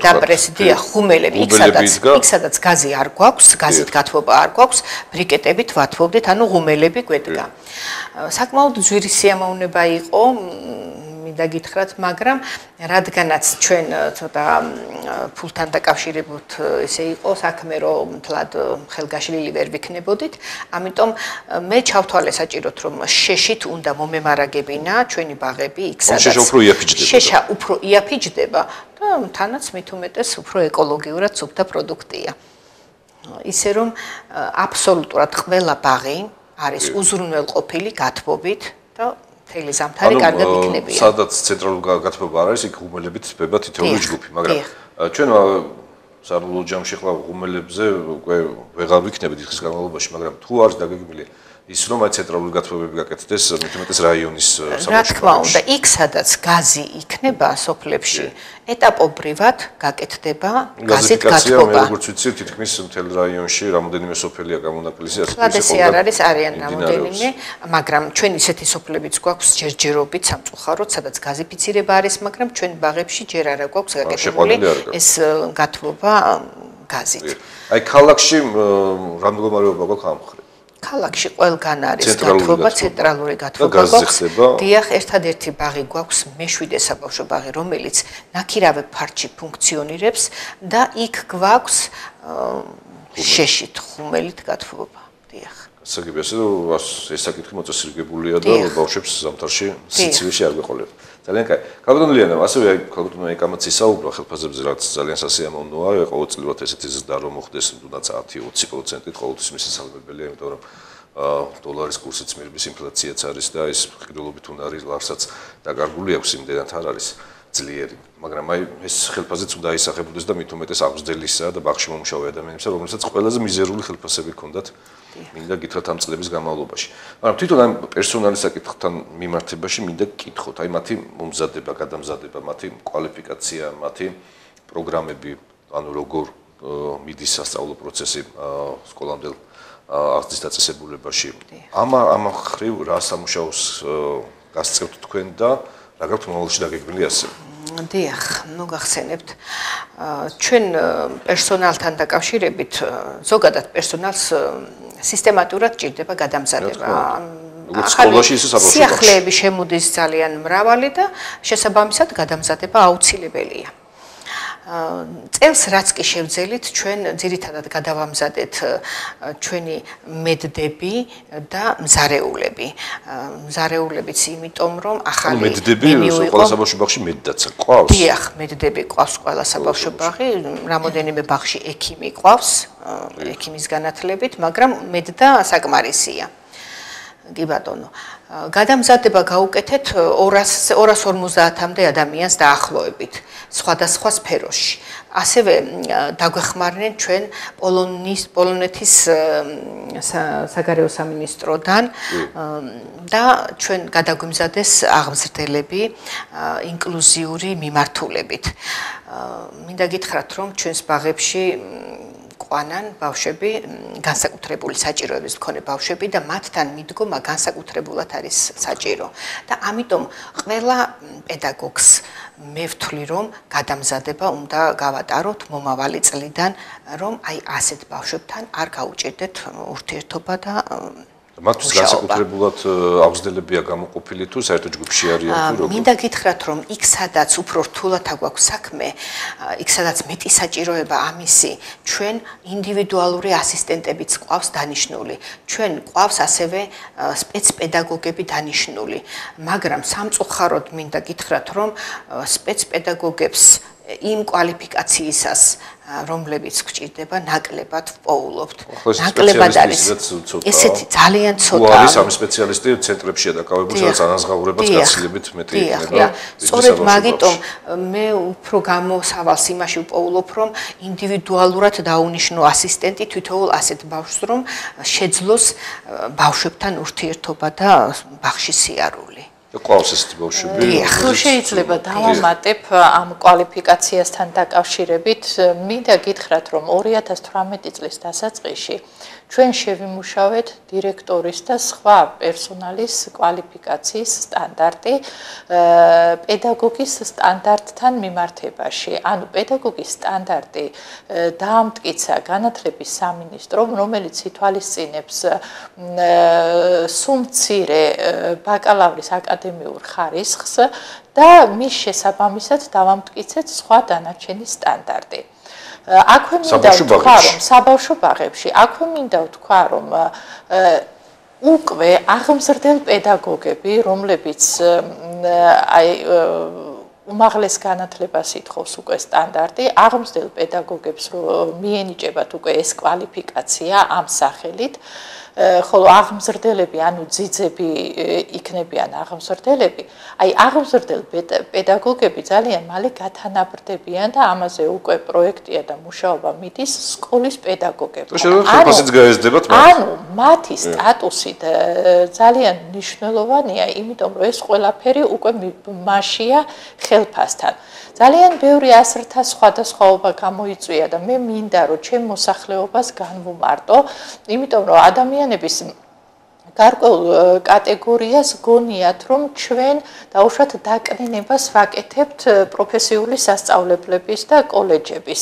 B: დაპრესდია ხუმელები, იქ სადაც გაზი არ გვაქვს, გაზით გათბობა არ გვაქვს, ბრიკეტებით ვათბობდით, ანუ ღუმელები გვედგა. საკმაოდ ძვირი სიამოვნება იყო, მინდა გითხრათ, მაგრამ რადგანაც ჩვენ ცოტა ფულთან დაკავშირებულ ესე იყო საქმე, რომ თლად ხელგაშლილი ვერ ვიქნებოდით, ამიტომ მე ჩავთვალე საჭიროდ, რომ შეშით უნდა მომემარაგებინა ჩვენი ბაღები იქ სადაც შეშა უფრო იაფიჯდება და თანაც მით უმეტეს უფრო ეკოლოგიურად სუფთა პროდუქტია. ისე რომ აბსოლუტურად ყველა ბაღი არის უზრუნველყოფილი გათბობით და მთელი ზამთარი კარგად იქნებიან.
A: სადაც ცენტრალური გათბობა არ არის, იქ ღუმელებით თბება თითოეული ჯგუფი, მაგრამ ჩვენ სარულო ჯამში ხლა ღუმელებზე უკვე ვეღარ ვიქნებით ხის განმავლობაში, მაგრამ თუ არის დაგეგმილი ის რომ აი ცენტრალური გათბობები გაკეთდეს მეტი რაიონის
B: საბავშვო. რა თქმა უნდა, იქ sadაც გაზი იქნება სოფლებში, ეტაპობრივად გაკეთდება გაზით გათბობა.
A: მე როგორც ვიცი, თითქმის მთელ რაიონში რამოდენიმე სოფელია გამონაკლისი,
B: ასე არ არის არიან რამოდენიმე, მაგრამ ჩვენ ისეთი სოფლებიც გვაქვს ჯერჯერობით სამწუხაროდ, სადაც გაზიფიცირება არის, მაგრამ ჩვენ ბაღებში ჯერ არა გვაქვს გაკეთებული ეს გათბობა გაზით.
A: აი ქალაქში რა მდგომარეობა გვაქვს ამ მხრივ?
B: ქალაქში ყველგან არის გათბობა, ცენტრალური გათბობა გვაქვს. დიახ, ერთადერთი ბაღი გვაქვს, მე-7 საბავშვო ბაღი, რომელიც ნაქირავე ფართში ფუნქციონირებს და იქ გვაქვს შეშით ხუმელით გათბობა. დიახ.
A: გასაგებია, ეს საკითხი მოწესრიგებულია და ბავშვებს ზამთარში სიცივეში არ გვეყოლება. ძალიან კაი. ქალბატონ ლიანა, ასევე აი ქალბატონმა ეკამაც ისაუბრა ხელფასებზე, რაც ძალიან სასიამოვნოა, ყოველწლიურად ესეთი ზრდა რომ მოხდეს, თუნდაც 10-20%-ით ყოველთვის მისასალმებელია, იმიტომ რომ დოლარის კურსიც მირბის ინფლაციაც არის და ეს ყიდულობით უნარი ლარსაც დაკარგული აქვს, იმდენად არ არის ძლიერი. მაგრამ აი ეს ხელფასიც უნდა ისახებოდეს და მით უმეტეს აღზრდელისა და ბაღში მომუშავე ადამიანებისა, რომელსაც ყველაზე მიზერული ხელფასები ჰქონდათ. მინდა გითხრათ ამ წლების განმავლობაში. მაგრამ თვითონ ამ პერსონალის საკითხთან მიმართებაში მინდა გკითხოთ, აი მათი მომზადება, გადამზადება, მათი კვალიფიკაცია, მათი პროგრამები, ანუ როგორ მიდის სასწავლო პროცესი სკოლამდელ აღზრდის დაწესებულებაში. ამ ხრივ რა სამუშაოს გასწევთ თქვენ და რა გაქვთ მომავალში დაგეგმილი ასე?
B: დიახ, ნუ გახსენებთ. ჩვენ პერსონალთან დაკავშირებით ზოგადად პერსონალს სისტემატურად ჭირდება გადამზადება.
A: სკოლაში ისე საბავშვო ბაღში.
B: სიახლეები შემოდის ძალიან მრავალი და შესაბამისად გადამზადება აუცილებელია. წელს რაც კი შევძელით, ჩვენ ძირითადად გადავამზადეთ ჩვენი მედდები და მზარეულები. მზარეულებიც იმიტომ, რომ ახალი
A: მედდები ყველა საბავშვო ბაღში მედდაცა ყავს?
B: დიახ, მედდები ყავს ყველა საბავშვო ბაღში, რამოდენიმე ბაღში ექიმი ყავს, ექიმის განათლებით, მაგრამ მედდა საკმარისია. კი ბატონო. გადამზადება გაუკეთეთ 250-მდე ადამიანს დაახლოებით სხვადასხვა სფეროში. ასევე დაგვეხმარნენ ჩვენ პოლონეთის საგარეო სამინისტროდან და ჩვენ გადაგვიმზადეს აღმზრდელები ინკლუზიური მიმართულებით. მინდა გითხრათ, რომ ჩვენს ბაღებში ყვანან ბავშვები, განსაკუთრებული საჭიროების მქონე ბავშვები და მათთან მიდგომა განსაკუთრებულად არის საჭირო. და ამიტომ ყველა პედაგოგს მე ვთვლი, რომ გადამზადება უნდა გავატაროთ მომავალი წლიდან, რომ აი ასეთ ბავშვებთან არ გაუჭირდეთ ურთიერთობა და
A: მათთვის განსაკუთრებულად აღზრდებია გამოყოფილი თუ საერთო ჯგუფში არიან თუ როგორ?
B: მინდა გითხრათ, რომ იქ სადაც უფრო რთულად აგვაქვს საქმე, იქ სადაც მეტი საჭიროება ამისი, ჩვენ ინდივიდუალური ასისტენტებიც ყავს დანიშნული. ჩვენ ყავს ასევე სპეცპედაგოგები დანიშნული, მაგრამ სამწუხაროდ მინდა გითხრათ, რომ სპეცპედაგოგებს იმ კვალიფიკაციისას რომლებიც გვჭირდება ნაკლებად ვპოულობთ. ნაკლებად არის. ესეთი ძალიან ცოტა.
A: არის ამ სპეციალისტი ცენტრებშია დაკავებული, სადაც ანაზღაურებაც გაცილებით მეტი იქნება.
B: სწორედ მაგიტომ მე უფრო გამოსავალს იმაში ვპოულობ, რომ ინდივიდუალურად დაუნიშნო ასისტენტი თითოეულ ასეთ ბავშვს, რომ შეძლოს ბავშვებთან ურთიერთობა და ბაღში სიარული.
A: ყავს ესეთი ბავშვები.
C: თუ შეიძლება დავამატებ ამ კვალიფიკაციასთან დაკავშირებით, მინდა გითხრათ, რომ 2018 წლის დასაწყისში ჩვენ შევიმუშავეთ დირექტორის და სხვა პერსონალის კვალიფიკაციის სტანდარტი პედაგოგის სტანდარტთან მიმართებაში. ანუ პედაგოგის სტანდარტი დაამტკიცა განათლების სამინისტრომ, რომელიც ითვალისწინებს სუმცირე ბაკალავრის აკადემიურ ხარისხს და მის შესაბამისად დავამტკიცეთ სხვა დანარჩენი სტანდარტი. აქვე მინდა ვთქვა, რომ საბავშვო ბაღებში, აქვე მინდა ვთქვა, რომ უკვე აღმზრდელ პედაგოგები, რომლებიც აი უმაღლეს განათლებას ითხოვს უკვე სტანდარტი, აღმზრდელ პედაგოგებს მიენიჭებათ უკვე ეს კვალიფიკაცია ამ სახელით. ხოლო აღმზრდელები, ანუ ძიძები იქნებიან აღმზრდელები, აი აღმზრდელ პედაგოგები ძალიან მალე გათანაბრდებიან და ამაზე უკვე პროექტია და მუშაობა მიდის სკოლის პედაგოგებთან. ანუ მათი სტატუსი ძალიან მნიშვნელოვანია, იმიტომ რომ ეს ყველაფერი უკვე მასშია ხელფასთან. ძალიან ბევრი ასრთა სხვადასხვაობა გამოიწვია და მე მინდა რომ ჩემ მოსახლეობას განვუმარტო, იმიტომ რომ ადამიანების გარკვეულ კატეგორიას გონიათ, რომ ჩვენ დაუშვათ დაკნინებას ვაკეთებთ პროფესიული სასწავლებლების და კოლეჯების.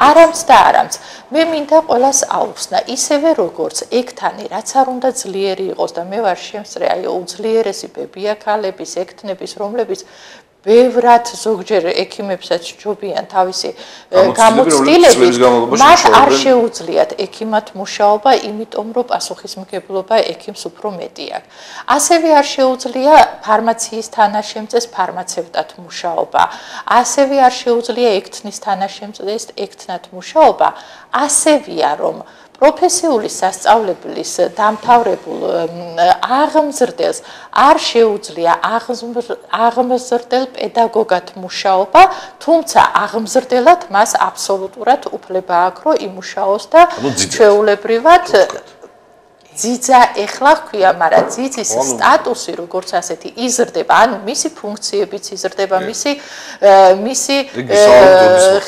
C: არამც და არამც. მე მინდა ყველას აუხსნა, ისევე როგორც ექთანი, რაც არ უნდა ძლიერი იყოს და მე ვარ შემსწრე აი უძლიერესი ბებია-ქალების, ექთნების, რომლებიც ბევრად ზოგჯერ ექიმებსაც ჯობიან თავისი გამოცდილებით, მათ არ შეუძლიათ ექიმად მუშაობა, იმიტომ რომ პასუხისმგებლობა ექიმს უფრო მეტი აქვს. ასევე არ შეუძლია ფარმაციის თანაშემწეს ფარმაცევტად მუშაობა, ასევე არ შეუძლია ექთნის თანაშემწეს ექთნად მუშაობა, ასევია რომ პროფესიული სასწავლებლის დამთავრებულ აღმზრდელს არ შეუძლია აღმზრდელ პედაგოგად მუშაობა, თუმცა აღმზრდელად მას აბსოლუტურად უფლება აქვს, რომ იმუშაოს და ჩვეულებრივად ძიძა ეხლა ხქვია, მაგრამ ძიძის სტატუსი როგორც ასეთი იზრდება, ანუ მისი ფუნქციებიც იზრდება, მისი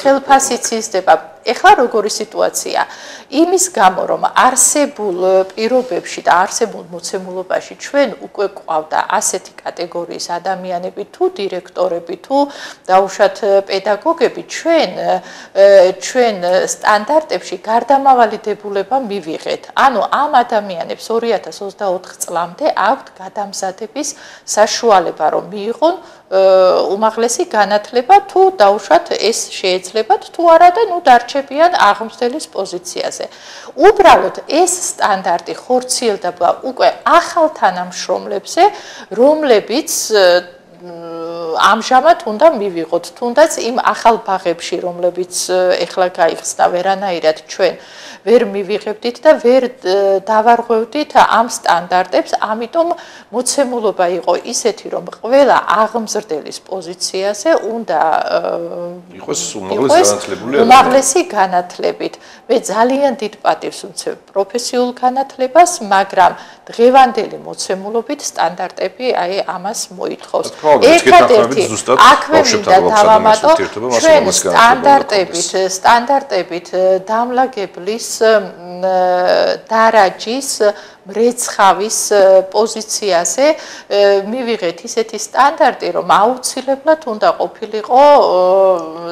C: ხელფასიც იზრდება. ეხლა როგორი სიტუაცია? იმის გამო, რომ არსებულ პირობებში და არსებულ მოცემულობაში ჩვენ უკვე გვყავდა ასეთი კატეგორიის ადამიანები, თუ დირექტორები, თუ დაუშვათ პედაგოგები, ჩვენ სტანდარტებში გარდამავალი დებულება მივიღეთ. ანუ ამ ადამიანებს 2024 წლამდე აქვთ გადამზადების საშუალება, რომ მიიღონ უმაღლესი განათლება, თუ დაუშვათ ეს შეეძლებათ, თუ არა და ნუ დარჩებიან აღმზრდელის პოზიციაზე. უბრალოდ ეს სტანდარტი ხორციელდება უკვე ახალ თანამშრომლებზე, რომლებიც ამჟამად უნდა მივიღოთ, თუნდაც იმ ახალ ბაღებში, რომლებიც ეხლა გაიხსნა, ვერანაირად ჩვენ ვერ მივიღებდით და ვერ დავარღვევდით ამ სტანდარტებს, ამიტომ მოცემულობა იყო ისეთი, რომ ყველა აღმზრდელის პოზიციაზე უნდა
A: იყოს უმაღლესი
C: განათლებით. მე ძალიან დიდ პატივს ვმცემ პროფესიულ განათლებას, მაგრამ დღევანდელი მოცემულობით სტანდარტები აი ამას მოითხოვს. ერთადერთი აქვე მინდა დავამატო, ჩვენ სტანდარტებით დამლაგებლის დარაჯის მრეცხავის პოზიციაზე მივიღეთ ისეთი სტანდარტი, რომ აუცილებლად უნდა ყოფილიყო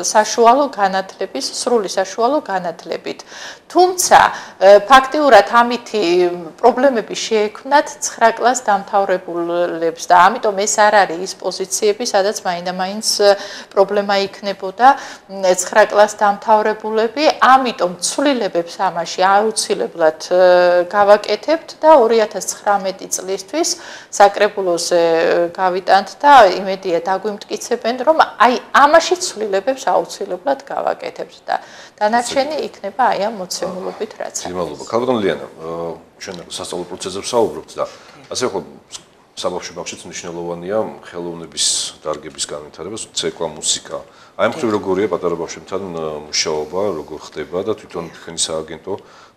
C: საშუალო განათლების, სრული საშუალო განათლებით. თუმცა ფაქტიურად ამითი პრობლემები შეექმნათ 9 კლას დამთავრებულებს და ამიტომ ეს არ არის ის პოზიციები, სადაც მაინდა-მაინც პრობლემა იქნებოდა 9 კლას დამთავრებულები, ამიტომ ცვლილებებს ამაში აუცილებლად გავაკეთებთ და 2019 წლისთვის საკრებულოზე გავიტანთ და იმედია დაგვიმტკიცებენ, რომ აი ამაში ცვლილებებს აუცილებლად გავაკეთებთ და დანარჩენი იქნება აი ამ მოცემულობით რაც არის.
A: მადლობა. ქალბატონო ლიანა, ჩვენ სასწავლო პროცესზე ვსაუბრობთ და ასე ხო საბავშვო ბაღშიც მნიშვნელოვანია ხელოვნების დარგების განვითარება, ცეკვა, მუსიკა. აი ამ ხრივ როგორია პატარა ბავშვებთან მუშაობა, როგორ ხდება და თვითონ თქვენი სააგენტო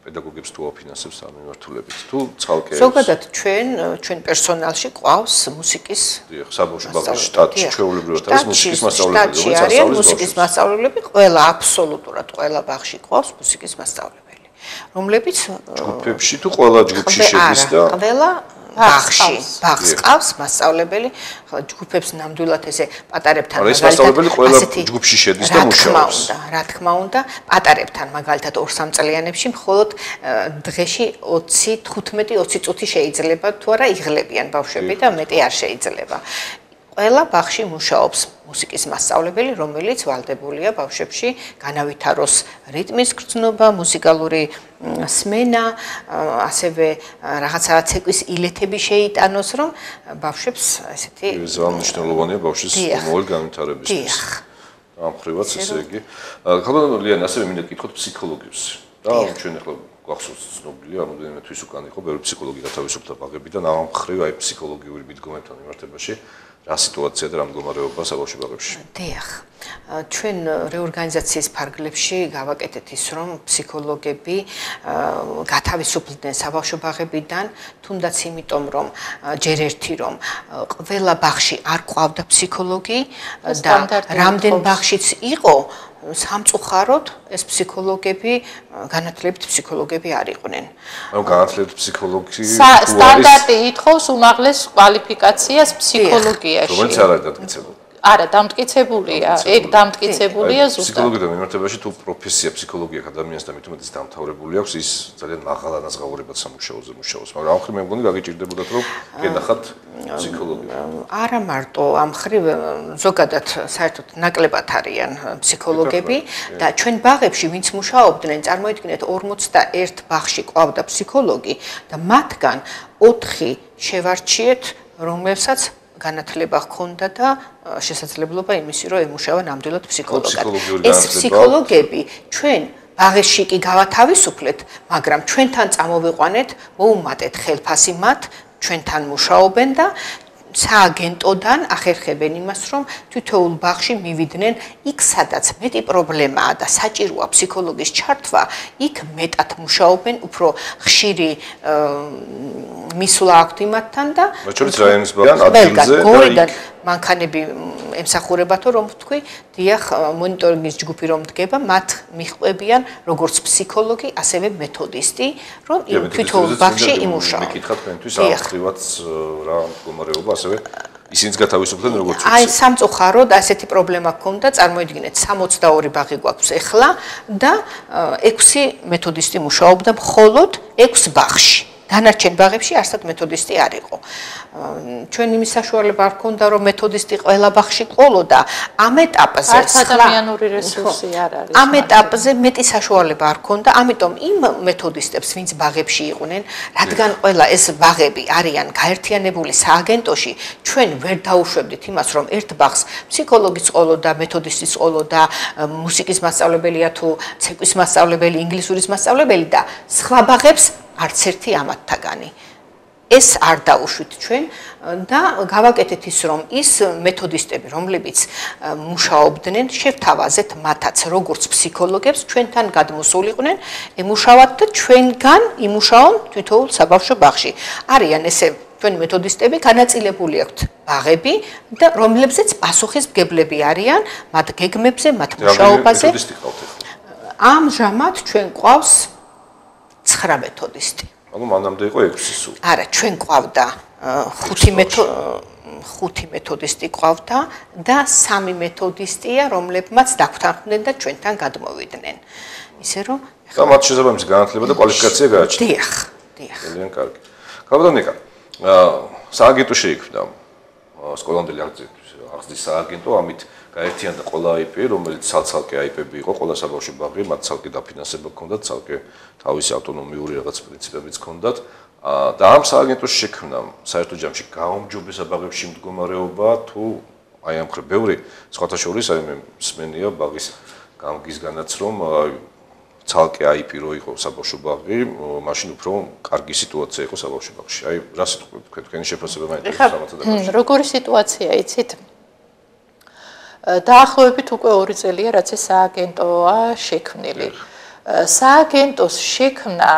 A: პედაგოგებს თუ აფინანსებს ამ მიმართულებით თუ ცალკე
B: ზოგადად ჩვენ პერსონალში ყავს მუსიკის
A: საბავშვო ბაღში შტატში ჩვეულებრივად არის მუსიკის მასწავლებლები,
B: მუსიკის მასწავლებლები, ყველა აბსოლუტურად ყველა ბაღში ყავს მუსიკის მასწავლებელი, რომლებიც
A: ჯგუფებში თუ ყველა ჯგუფში შედის და
B: ყველა ბაღს ყავს მასწავლებელი, ჯგუფებს ნამდვილად ესე პატარებთან
A: მაგალითად ყველა ჯგუფში შედის და მუშაობს.
B: რა თქმა უნდა, პატარებთან მაგალითად 2-3 წლიანებში მხოლოდ დღეში 20-15-20 წუთი შეიძლება თუ არა იღლებიან ბავშვები და მეტი არ შეიძლება. ყველა ბაღში მუშაობს მუსიკის მასწავლებელი, რომელიც ვალდებულია ბავშვებში განავითაროს რიტმის გრძნობა, მუსიკალური სმენა, ასევე რაღაცა ცეკვის ილეთები შეიტანოს, რომ ბავშვებს ესეთი
A: მნიშვნელოვანია ბავშვის მომავალი განვითარებისთვის. ამ ხრივაც ესე იგი. ქალბატონო ლიანა, ასევე მინდა გითხოთ ფსიქოლოგებს. და ჩვენ ახლა გვახსოვს ცნობილია, რამოდენიმე თვის უკან იყო ბევრი ფსიქოლოგი გათავისუფლდა ბაღებიდან, ამ ხრივ აი ფსიქოლოგიური მიდგომებთან მიმართებაში რა სიტუაცია და რა მდგომარეობა საბავშვო ბაღებში?
B: დიახ. ჩვენ რეორგანიზაციის ფარგლებში გავაკეთეთ ის, რომ ფსიქოლოგები გათავისუფლდნენ საბავშვო ბაღებიდან, თუნდაც იმიტომ, რომ ჯერ ერთი რომ ყველა ბაღში არ ყავდა ფსიქოლოგი და რამდენ ბაღშიც იყო სამწუხაროდ ეს ფსიქოლოგები განათლებით ფსიქოლოგები არ იყვნენ.
A: ანუ განათლებით ფსიქოლოგი
C: სტანდარტი ითხოვს უმაღლეს კვალიფიკაციას ფსიქოლოგიაში.
A: რომელიც არ არის დამტკიცებული.
C: არა, დამტკიცებულია. ეგ დამტკიცებულია ზუსტად.
A: ფსიქოლოგიდან მიმართებაში თუ პროფესია ფსიქოლოგია ადამიანს და მით უმეტეს დამთავრებული აქვს, ის ძალიან მაღალ ანაზღაურებად სამუშაოზე მუშაობს, მაგრამ ამ ხრივ მე მგონი გაგიჭირდებოდათ რომ გენახათ ფსიქოლოგია.
B: არა მარტო ამ ხრივ ზოგადად საერთოდ ნაკლებად არიან ფსიქოლოგები და ჩვენ ბაღებში ვინც მუშაობდნენ, წარმოიდგინეთ 41 ბაღში ყავდა ფსიქოლოგი და მათგან 4 შევარჩიეთ, რომლებსაც განათლება ჰქონდა და შესაძლებლობა იმისი, რომ ემუშავა ნამდვილად ფსიქოლოგად. ეს ფსიქოლოგები ჩვენ ბაღებში კი გავათავისუფლეთ, მაგრამ ჩვენთან წამოვიყვანეთ, მოუმატეთ ხელფასი მათ, ჩვენთან მუშაობენ და სააგენტოდან ახერხებენ იმას, რომ თითოეულ ბაღში მივიდნენ იქ, სადაც მეტი პრობლემაა და საჭიროა ფსიქოლოგის ჩართვა, იქ მეტად მუშაობენ, უფრო ხშირი მისვლა აქვთ იმათთან და
A: მოჩვენეთ რაიონის ბაღიდან ადგილზე და
B: მანქანები ემსახურებათო რომ თქვი, დიახ, მონიტორინგის ჯგუფი რომ დგება, მათ მიჰყვებიან როგორც ფსიქოლოგი, ასევე მეთოდისტი, რომ თითოეულ ბაღში იმუშაო.
A: მეკითხა თქვენთვის აღხრივაც რა მდგომარეობა, ასევე ისინიც გათავისუფლდნენ როგორც
B: აი სამწუხაროდ ასეთი პრობლემა ჰქონდა, წარმოიდგინეთ 62 ბაღი გვაქვს ახლა და 6 მეთოდისტი მუშაობდა მხოლოდ 6 ბაღში. დანარჩენ ბაღებში არსად მეთოდისტი არ იყო. ჩვენ იმის საშუალება არ ჰქონდა, რომ მეთოდისტი ყველა ბაღში ყოლოდა. ამ ეტაპზე
C: ადამიანური რესურსი არ არის.
B: ამ ეტაპზე მეტი საშუალება არ ჰქონდა, ამიტომ იმ მეთოდისტებს, ვინც ბაღებში იყვნენ, რადგან ყველა ეს ბაღები არიან გაერთიანებული სააგენტოში, ჩვენ ვერ დაუშვებდით იმას, რომ ერთ ბაღს ფსიქოლოგიც ყოლოდა, მეთოდისტიც ყოლოდა, მუსიკის მასწავლებელია თუ ცეკვის მასწავლებელი, ინგლისურის მასწავლებელი და სხვა ბაღებს არც ერთი ამათთაგანი. ეს არ დაუშვით ჩვენ და გავაკეთეთ ის, რომ ის მეთოდისტები, რომლებიც მუშაობდნენ, შევთავაზეთ მათაც როგორც ფსიქოლოგებს, ჩვენთან გადმოსულიყვნენ, ემუშავათ და ჩვენგან იმუშაონ თითოეულ საბავშვო ბაღში. არიან ესე ჩვენი მეთოდისტები, განაწილებული აქვთ ბაღები და რომლებზეც პასუხისმგებლები არიან მათ გეგმებზე, მათ მუშაობაზე. ამჟამად ჩვენ ყავს 9 მეთოდისტი.
A: ანუ მანამდე იყო 6 სულ.
B: არა, ჩვენ ყავდა 5 მეთოდისტი ყავდა და 3 მეთოდისტია, რომლებმაც დაგვთანხმდნენ და ჩვენთან გადმოვიდნენ. ისე რომ
A: და მათ შესაბამისი განათლება და კვალიფიკაცია გააჩნიათ.
B: დიახ, დიახ.
A: ძალიან კარგი. კაბადონიკა, სააგენტო შეიქმნა სკოლამდელი აღზრდის სააგენტო, ამით გაერთიანდა ყველა IP, რომელიც ცალ-ცალკე IP-ები იყო, ყველა საბავშვო ბაღი, მათ ცალკე დაფინანსება ჰქონდათ, ცალკე თავისი ავტონომიური რაღაც პრინციპებიც ჰქონდათ. და ამ სააგენტოს შექმნამ საერთო ჯამში გაუმჯობესა ბაღებში მდგომარეობა თუ აი ამ ხრი ბევრი სხვათა შორის აი მე მსმენია ბაღის გამგისგანაც რომ ცალკე IP რო იყო საბავშვო ბაღი, მაშინ უფრო კარგი სიტუაცია იყო საბავშვო ბაღში. აი რა სიტყვით თქვენი შეფასება მაინტერესებს ამათა დაკავშირებით.
C: როგორი სიტუაცია იცით? დაახლოებით უკვე 2 წელია რაც ეს სააგენტოა შექმნილი. სააგენტოს შექმნა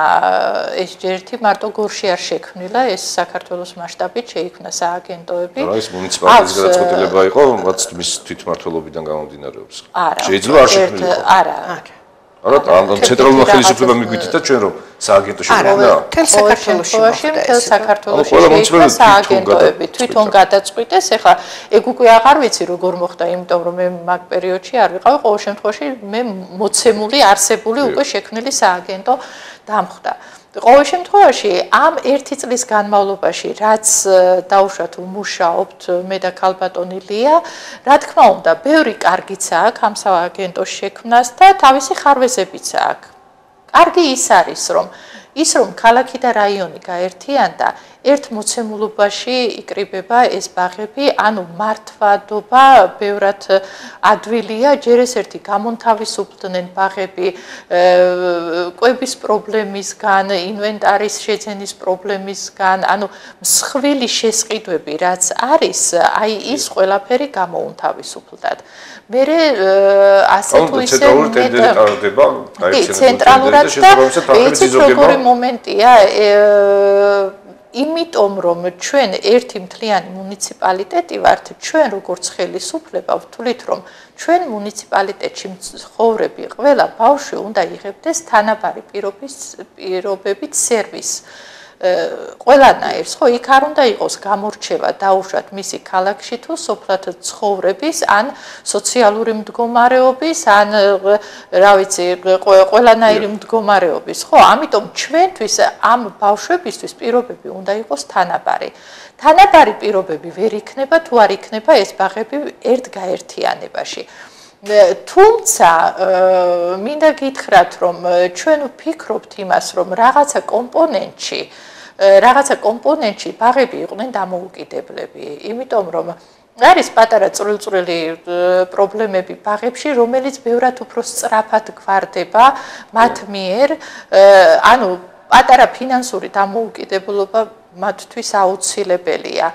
C: ეს ერთი მარტო გორში არ შექმნილა, ეს საქართველოს მასშტაბით შეიქმნა სააგენტოები.
A: რა ის მუნიციპალიტეტის გადაწყვეტილება იყო, რაც მის თვითმმართველობიდან გამომდინარეობს. შეიძლება არ შექმნილიყო.
C: არა.
A: არა, ამ ცენტრალურმა ხელისუფლებამ მიგვიწედა ჩვენ რომ სააგენტო შექმნა.
B: თელ საქართველოში
C: სააგენტოები თვითონ გადაწყვიტეს. ეხლა ეგ უკვე აღარ ვიცი როგორ მოხდა, იმიტომ რომ მე მაგ პერიოდში არ ვიყავი, ყოველ შემთხვევაში მე მოცემული არსებული უკვე შექმნილი სააგენტო დამხვდა. ყოველ შემთხვევაში ამ 1 წლის განმავლობაში რაც დაუშვათ ვმუშაობთ მე და ქალბატონი ლია, რა თქმა უნდა, ბევრი კარგიც აქვს ამ სააგენტოს შექმნას და თავისი ხარვეზებიც აქვს. კარგი ის არის, რომ ქალაქი და რაიონი გაერთიანდა, ერთ მოცემულობაში იკრიბება ეს ბაღები, ანუ მართვადობა ბევრად ადვილია, ჯერ ეს ერთი გამონთავისუფლდნენ ბაღები კვების პრობლემისგან, ინვენტარის შეძენის პრობლემისგან, ანუ მსხვილი შესყიდვები რაც არის, აი ის ყველაფერი გამოუნთავისუფლდათ. მერე ასე თუ ისე ცენტრალურად და იცით როგორი მომენტია იმიტომ რომ ჩვენ ერთი მთლიანი მუნიციპალიტეტი ვართ, ჩვენ როგორც ხელისუფლება ვთვლით, რომ ჩვენ მუნიციპალიტეტში მცხოვრები ყველა ბავშვი უნდა იღებდეს თანაბარი პირობებით სერვისს. ყველანაირს, ხო, იქ არ უნდა იყოს გამორჩევა დაუშვათ მისი ქალაქში თუ სოფლად ცხოვრების, ან სოციალური მდგომარეობის, ან რა ვიცი, ყველანაირი მდგომარეობის, ხო? ამიტომ ჩვენთვის ამ ბავშვებისთვის პირობები უნდა იყოს თანაბარი. თანაბარი პირობები ვერ იქნება თუ არ იქნება ეს ბაღები ერთგაერთიანებაში. თუმცა მინდა გითხრათ, რომ ჩვენ ვფიქრობთ იმას, რომ რაღაცა კომპონენტში ბაღები იყვნენ დამოუკიდებლები, იმიტომ რომ არის პატარა წვრილ-წვრილი პრობლემები ბაღებში, რომელიც ბევრად უფრო სწრაფად გვარდება მათ მიერ, ანუ პატარა ფინანსური დამოუკიდებლობა მათთვის აუცილებელია.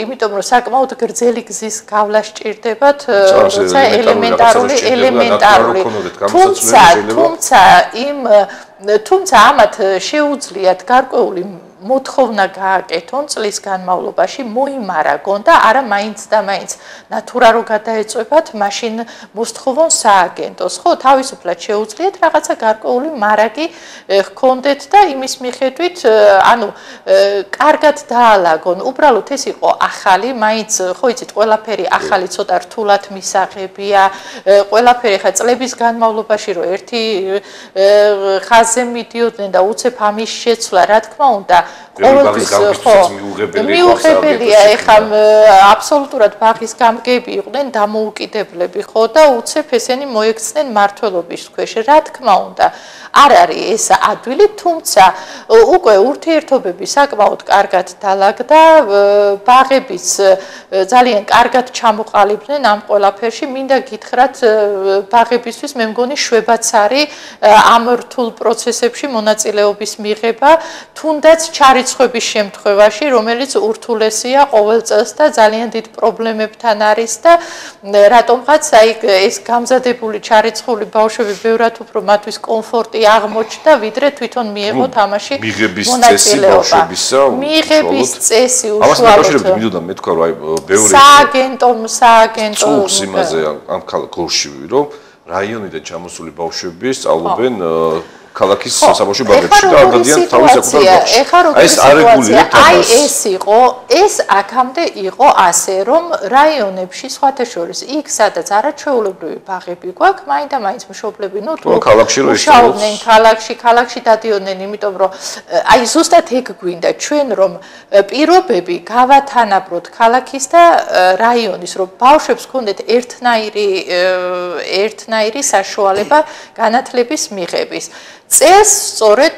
C: იმიტომ რომ საკმაოდ გრძელი გზის გავლა სჭირდებათ, როცა ელემენტარული თუმცა ამათ შეუძლიათ გარკვეული მოთხოვნა გააკეთონ წლის განმავლობაში, მოიმარაგონ და არა მაინც და მაინც ნატურა რო გადაეწევათ, მაშინ მოსთხოვონ სააგენტოს, ხო, თავისუფლად შეუძლიათ რაღაცა გარკვეული მარაგი ჰქონდეთ და იმის მიხედვით, ანუ კარგად დაალაგონ. უბრალოდ ეს იყო ახალი, მაინც ხო იცით, ყველაფერი ახალი ცოტა რთულად მისაღებია, ყველაფერი ხა წლების განმავლობაში რო ერთი ხაზზე მიდიოდნენ და უცებ ამის შეცვლა, რა თქმა უნდა, ყოველთვის მიუღებელია, ეხლა აბსოლუტურად ბაღის გამგები იყვნენ დამოუკიდებლები, ხო და უცებ ესენი მოექცნენ მმართველობის ქვეშ, რა თქმა უნდა. არ არის ეს ადვილი, თუმცა უკვე ურთიერთობები საკმაოდ კარგად დაალაგდა, ბაღებიც ძალიან კარგად ჩამოყალიბდნენ ამ ყველაფერში. მინდა გითხრათ, ბაღებისთვის მე მგონი შვებაც არის ამ რთულ პროცესებში მონაწილეობის მიღება, თუნდაც ჩარიცხვების შემთხვევაში, რომელიც ურთულესია ყოველ წელს და ძალიან დიდ პრობლემებთან არის და რატომღაც აი ეს გამზადებული ჩარიცხული ბავშვები ბევრად უფრო მათთვის კომფორტი აღმოჩნდა, ვიდრე თვითონ მიიღო თამაში მონაწილეობა. მიღების წესი უშუალოდ
A: მინდოდა მეთქვა, რომ აი ბევრი
C: სააგენტო
A: წუხს იმაზე ამ გორში, რომ რაიონიდან ჩამოსული ბავშვები სწავლობენ ქალაქის საბავშვო ბაღებში და გადადიან თავის საკუთარ ბაღში.
C: აი ეს არეგულირებთ ამას. ეს აქამდე იყო ასე, რომ რაიონებში სხვათა შორის იქ სადაც არაჩვეულებრივი ბაღები გვაქვს, მაინდა-მაინც მშობლები თუ მუშაობდნენ ქალაქში დადიოდნენ, იმიტომ რომ აი ზუსტად ეგ გვინდა ჩვენ რომ პირობები გავათანაბროთ ქალაქის და რაიონის, რომ ბავშვებს ჰქონდეთ ერთნაირი საშუალება განათლების მიღების. წელს სწორედ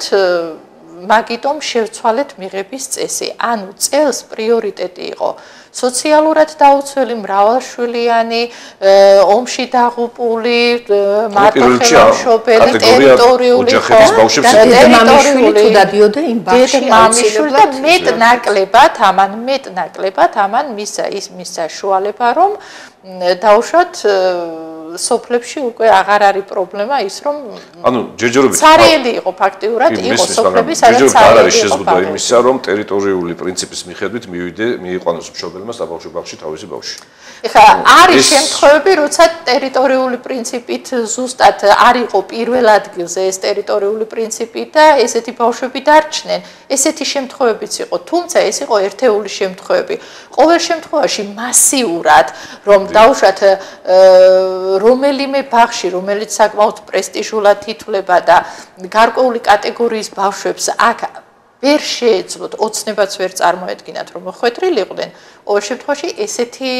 C: მაგიტომ შევცვალეთ მიღების წესი. ანუ წელს პრიორიტეტი იყო სოციალურად დაუცველი მრავალშვილიანი, ომში დაღუპული, მარტოხელმშობელი, ტერიტორიული და მეტნაკლებად ამან მისცა შუალება, რომ დაუშვათ სოფლებში უკვე აღარ არის პრობლემა ის რომ
A: ანუ ჯერჯერობით
C: ცარიელი იყო ფაქტიურად იყო სოფლები სადაც
A: არ არის შეზღუდვა იმისა რომ ტერიტორიული პრინციპის მიხედვით მიიყვანოს მშობელმა საბავშვო ბაღში თავისი ბავშვი.
C: ეხლა არის შემთხვევები როცა ტერიტორიული პრინციპით ზუსტად არ იყო პირველ ადგილზე ეს ტერიტორიული პრინციპი და ესეთი ბავშვები დარჩნენ. ესეთი შემთხვევებიც იყო, თუმცა ეს იყო ერთეული შემთხვევები. ყოველ შემთხვევაში მასიურად რომ დაუშვათ რომელიმე ბაღში, რომელიც საკმაოდ პრესტიჟულად ითვლება და გარკვეული კატეგორიის ბავშვებს აქ ვერ შეეძლოთ, ოცნებაც ვერ წარმოედგინათ, რომ მოხვედრილიყვნენ, ყოველ შემთხვევაში ესეთი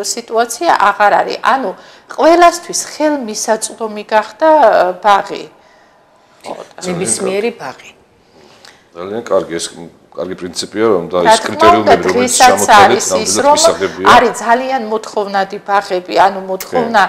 C: სიტუაცია აღარ არის. ანუ ყველასთვის ხელმისაწვდომი გახდა ბაღი.
B: ნებისმიერი ბაღი.
A: ძალიან კარგი ეს კარგი პრინციპია რომ და ეს კრიტერიუმები რომელიც შემოთვალეთ ნამდვილად მისაღებია.
C: არის ძალიან მოთხოვნადი ბაღები, ანუ მოთხოვნა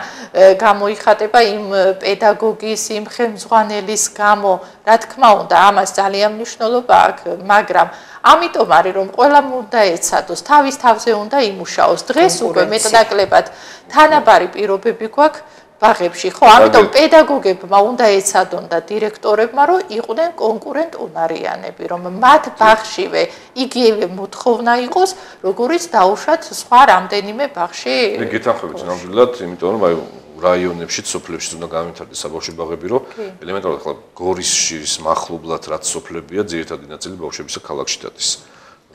C: გამოიხატება იმ პედაგოგის, იმ ხელმძღვანელის გამო, რა თქმა უნდა, ამას ძალიან მნიშვნელობა აქვს, მაგრამ ამიტომ არის რომ ყველამ უნდა ეცადოს, თავის თავზე უნდა იმუშაოს. დღეს უკვე მეტნაკლებად თანაბარი პირობები გვაქვს ბაღებში, ხო, ამიტომ პედაგოგებმა უნდა ეცადონ და დირექტორებმა, რომ იყვნენ კონკურენტუნარიანები, რომ მათ ბაღშივე იგივე მოთხოვნა იყოს, როგორიც დაუშვათ სხვა რამდენიმე ბაღში.
A: მე გეთანხმებით ნამდვილად, იმიტომ რომ აი რაიონებში, სოფლებში უნდა გამართდეს საბავშვო ბაღები, რომ ელემენტარულად ახლა გორისშის მახლობლად რაც სოფლებია, ძირითადი ნაწილი ბავშვებისა ქალაქში დადის.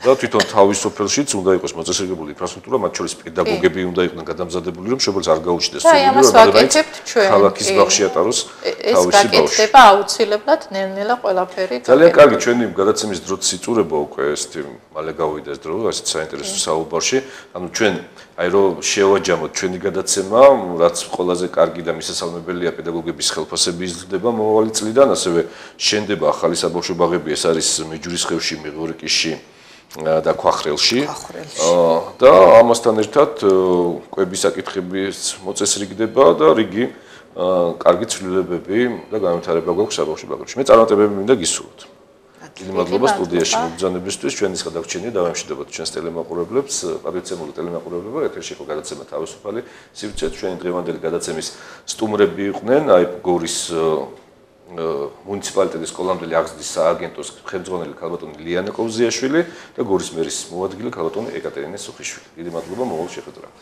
A: და თვითონ თავის სოფელშიც უნდა იყოს მოწესრიგებული ინფრასტრუქტურა, მათ შორის პედაგოგები უნდა იყვნენ გადამზადებული, რომ შეუძლოს არ გაუჩნდეს ქალაქის ბაღში ატაროს თავისი ბავშვი. ეს
C: გაკეთდება აუცილებლად ნელ-ნელა ყველაფერი.
A: ძალიან კარგი, ჩვენი გადაცემის დროც იწურება უკვე ეს მალე გავიდა ეს დრო, ასეთ საინტერესო საუბარში. ანუ ჩვენ აი რომ შევაჯამოთ ჩვენი გადაცემა, რაც ყველაზე კარგი და მისასალმებელია პედაგოგების ხელფასები იზრდება მომავალი წლიდან, ასევე შენდება ახალი საბავშვო ბაღები, ეს არის მეჯურისხევში, მეღორიკიში და ქვახრელში და ამასთან ერთად კვების საკითხების მოწესრიგდება და რიგი კარგი ცვლილებები და განვითარება გვაქვს საბავშვო ბაღებში. მე წარმატებები მინდა გისურვოთ. დიდი მადლობა სტუდიაში მობრძანებისთვის. ჩვენის გადარჩენია დავემშვიდობოთ ჩვენს ტელემაყურებლებს, პატრიცემული ტელემაყურებლებო, ეთერში იყო გადაცემა თავისუფალი სივრცე. ჩვენი დღევანდელი გადაცემის სტუმრები იყვნენ აი გორის მუნიციპალიტეტის სკოლამდელი აღზრდის სააგენტოს ხელმძღვანელი ქალბატონი ლიანა კოვზიაშვილი და გორის მერის მოადგილე ქალბატონი ეკატერინე სუხიშვილი. დიდი მადლობა მომავალ შეხვედრამდე.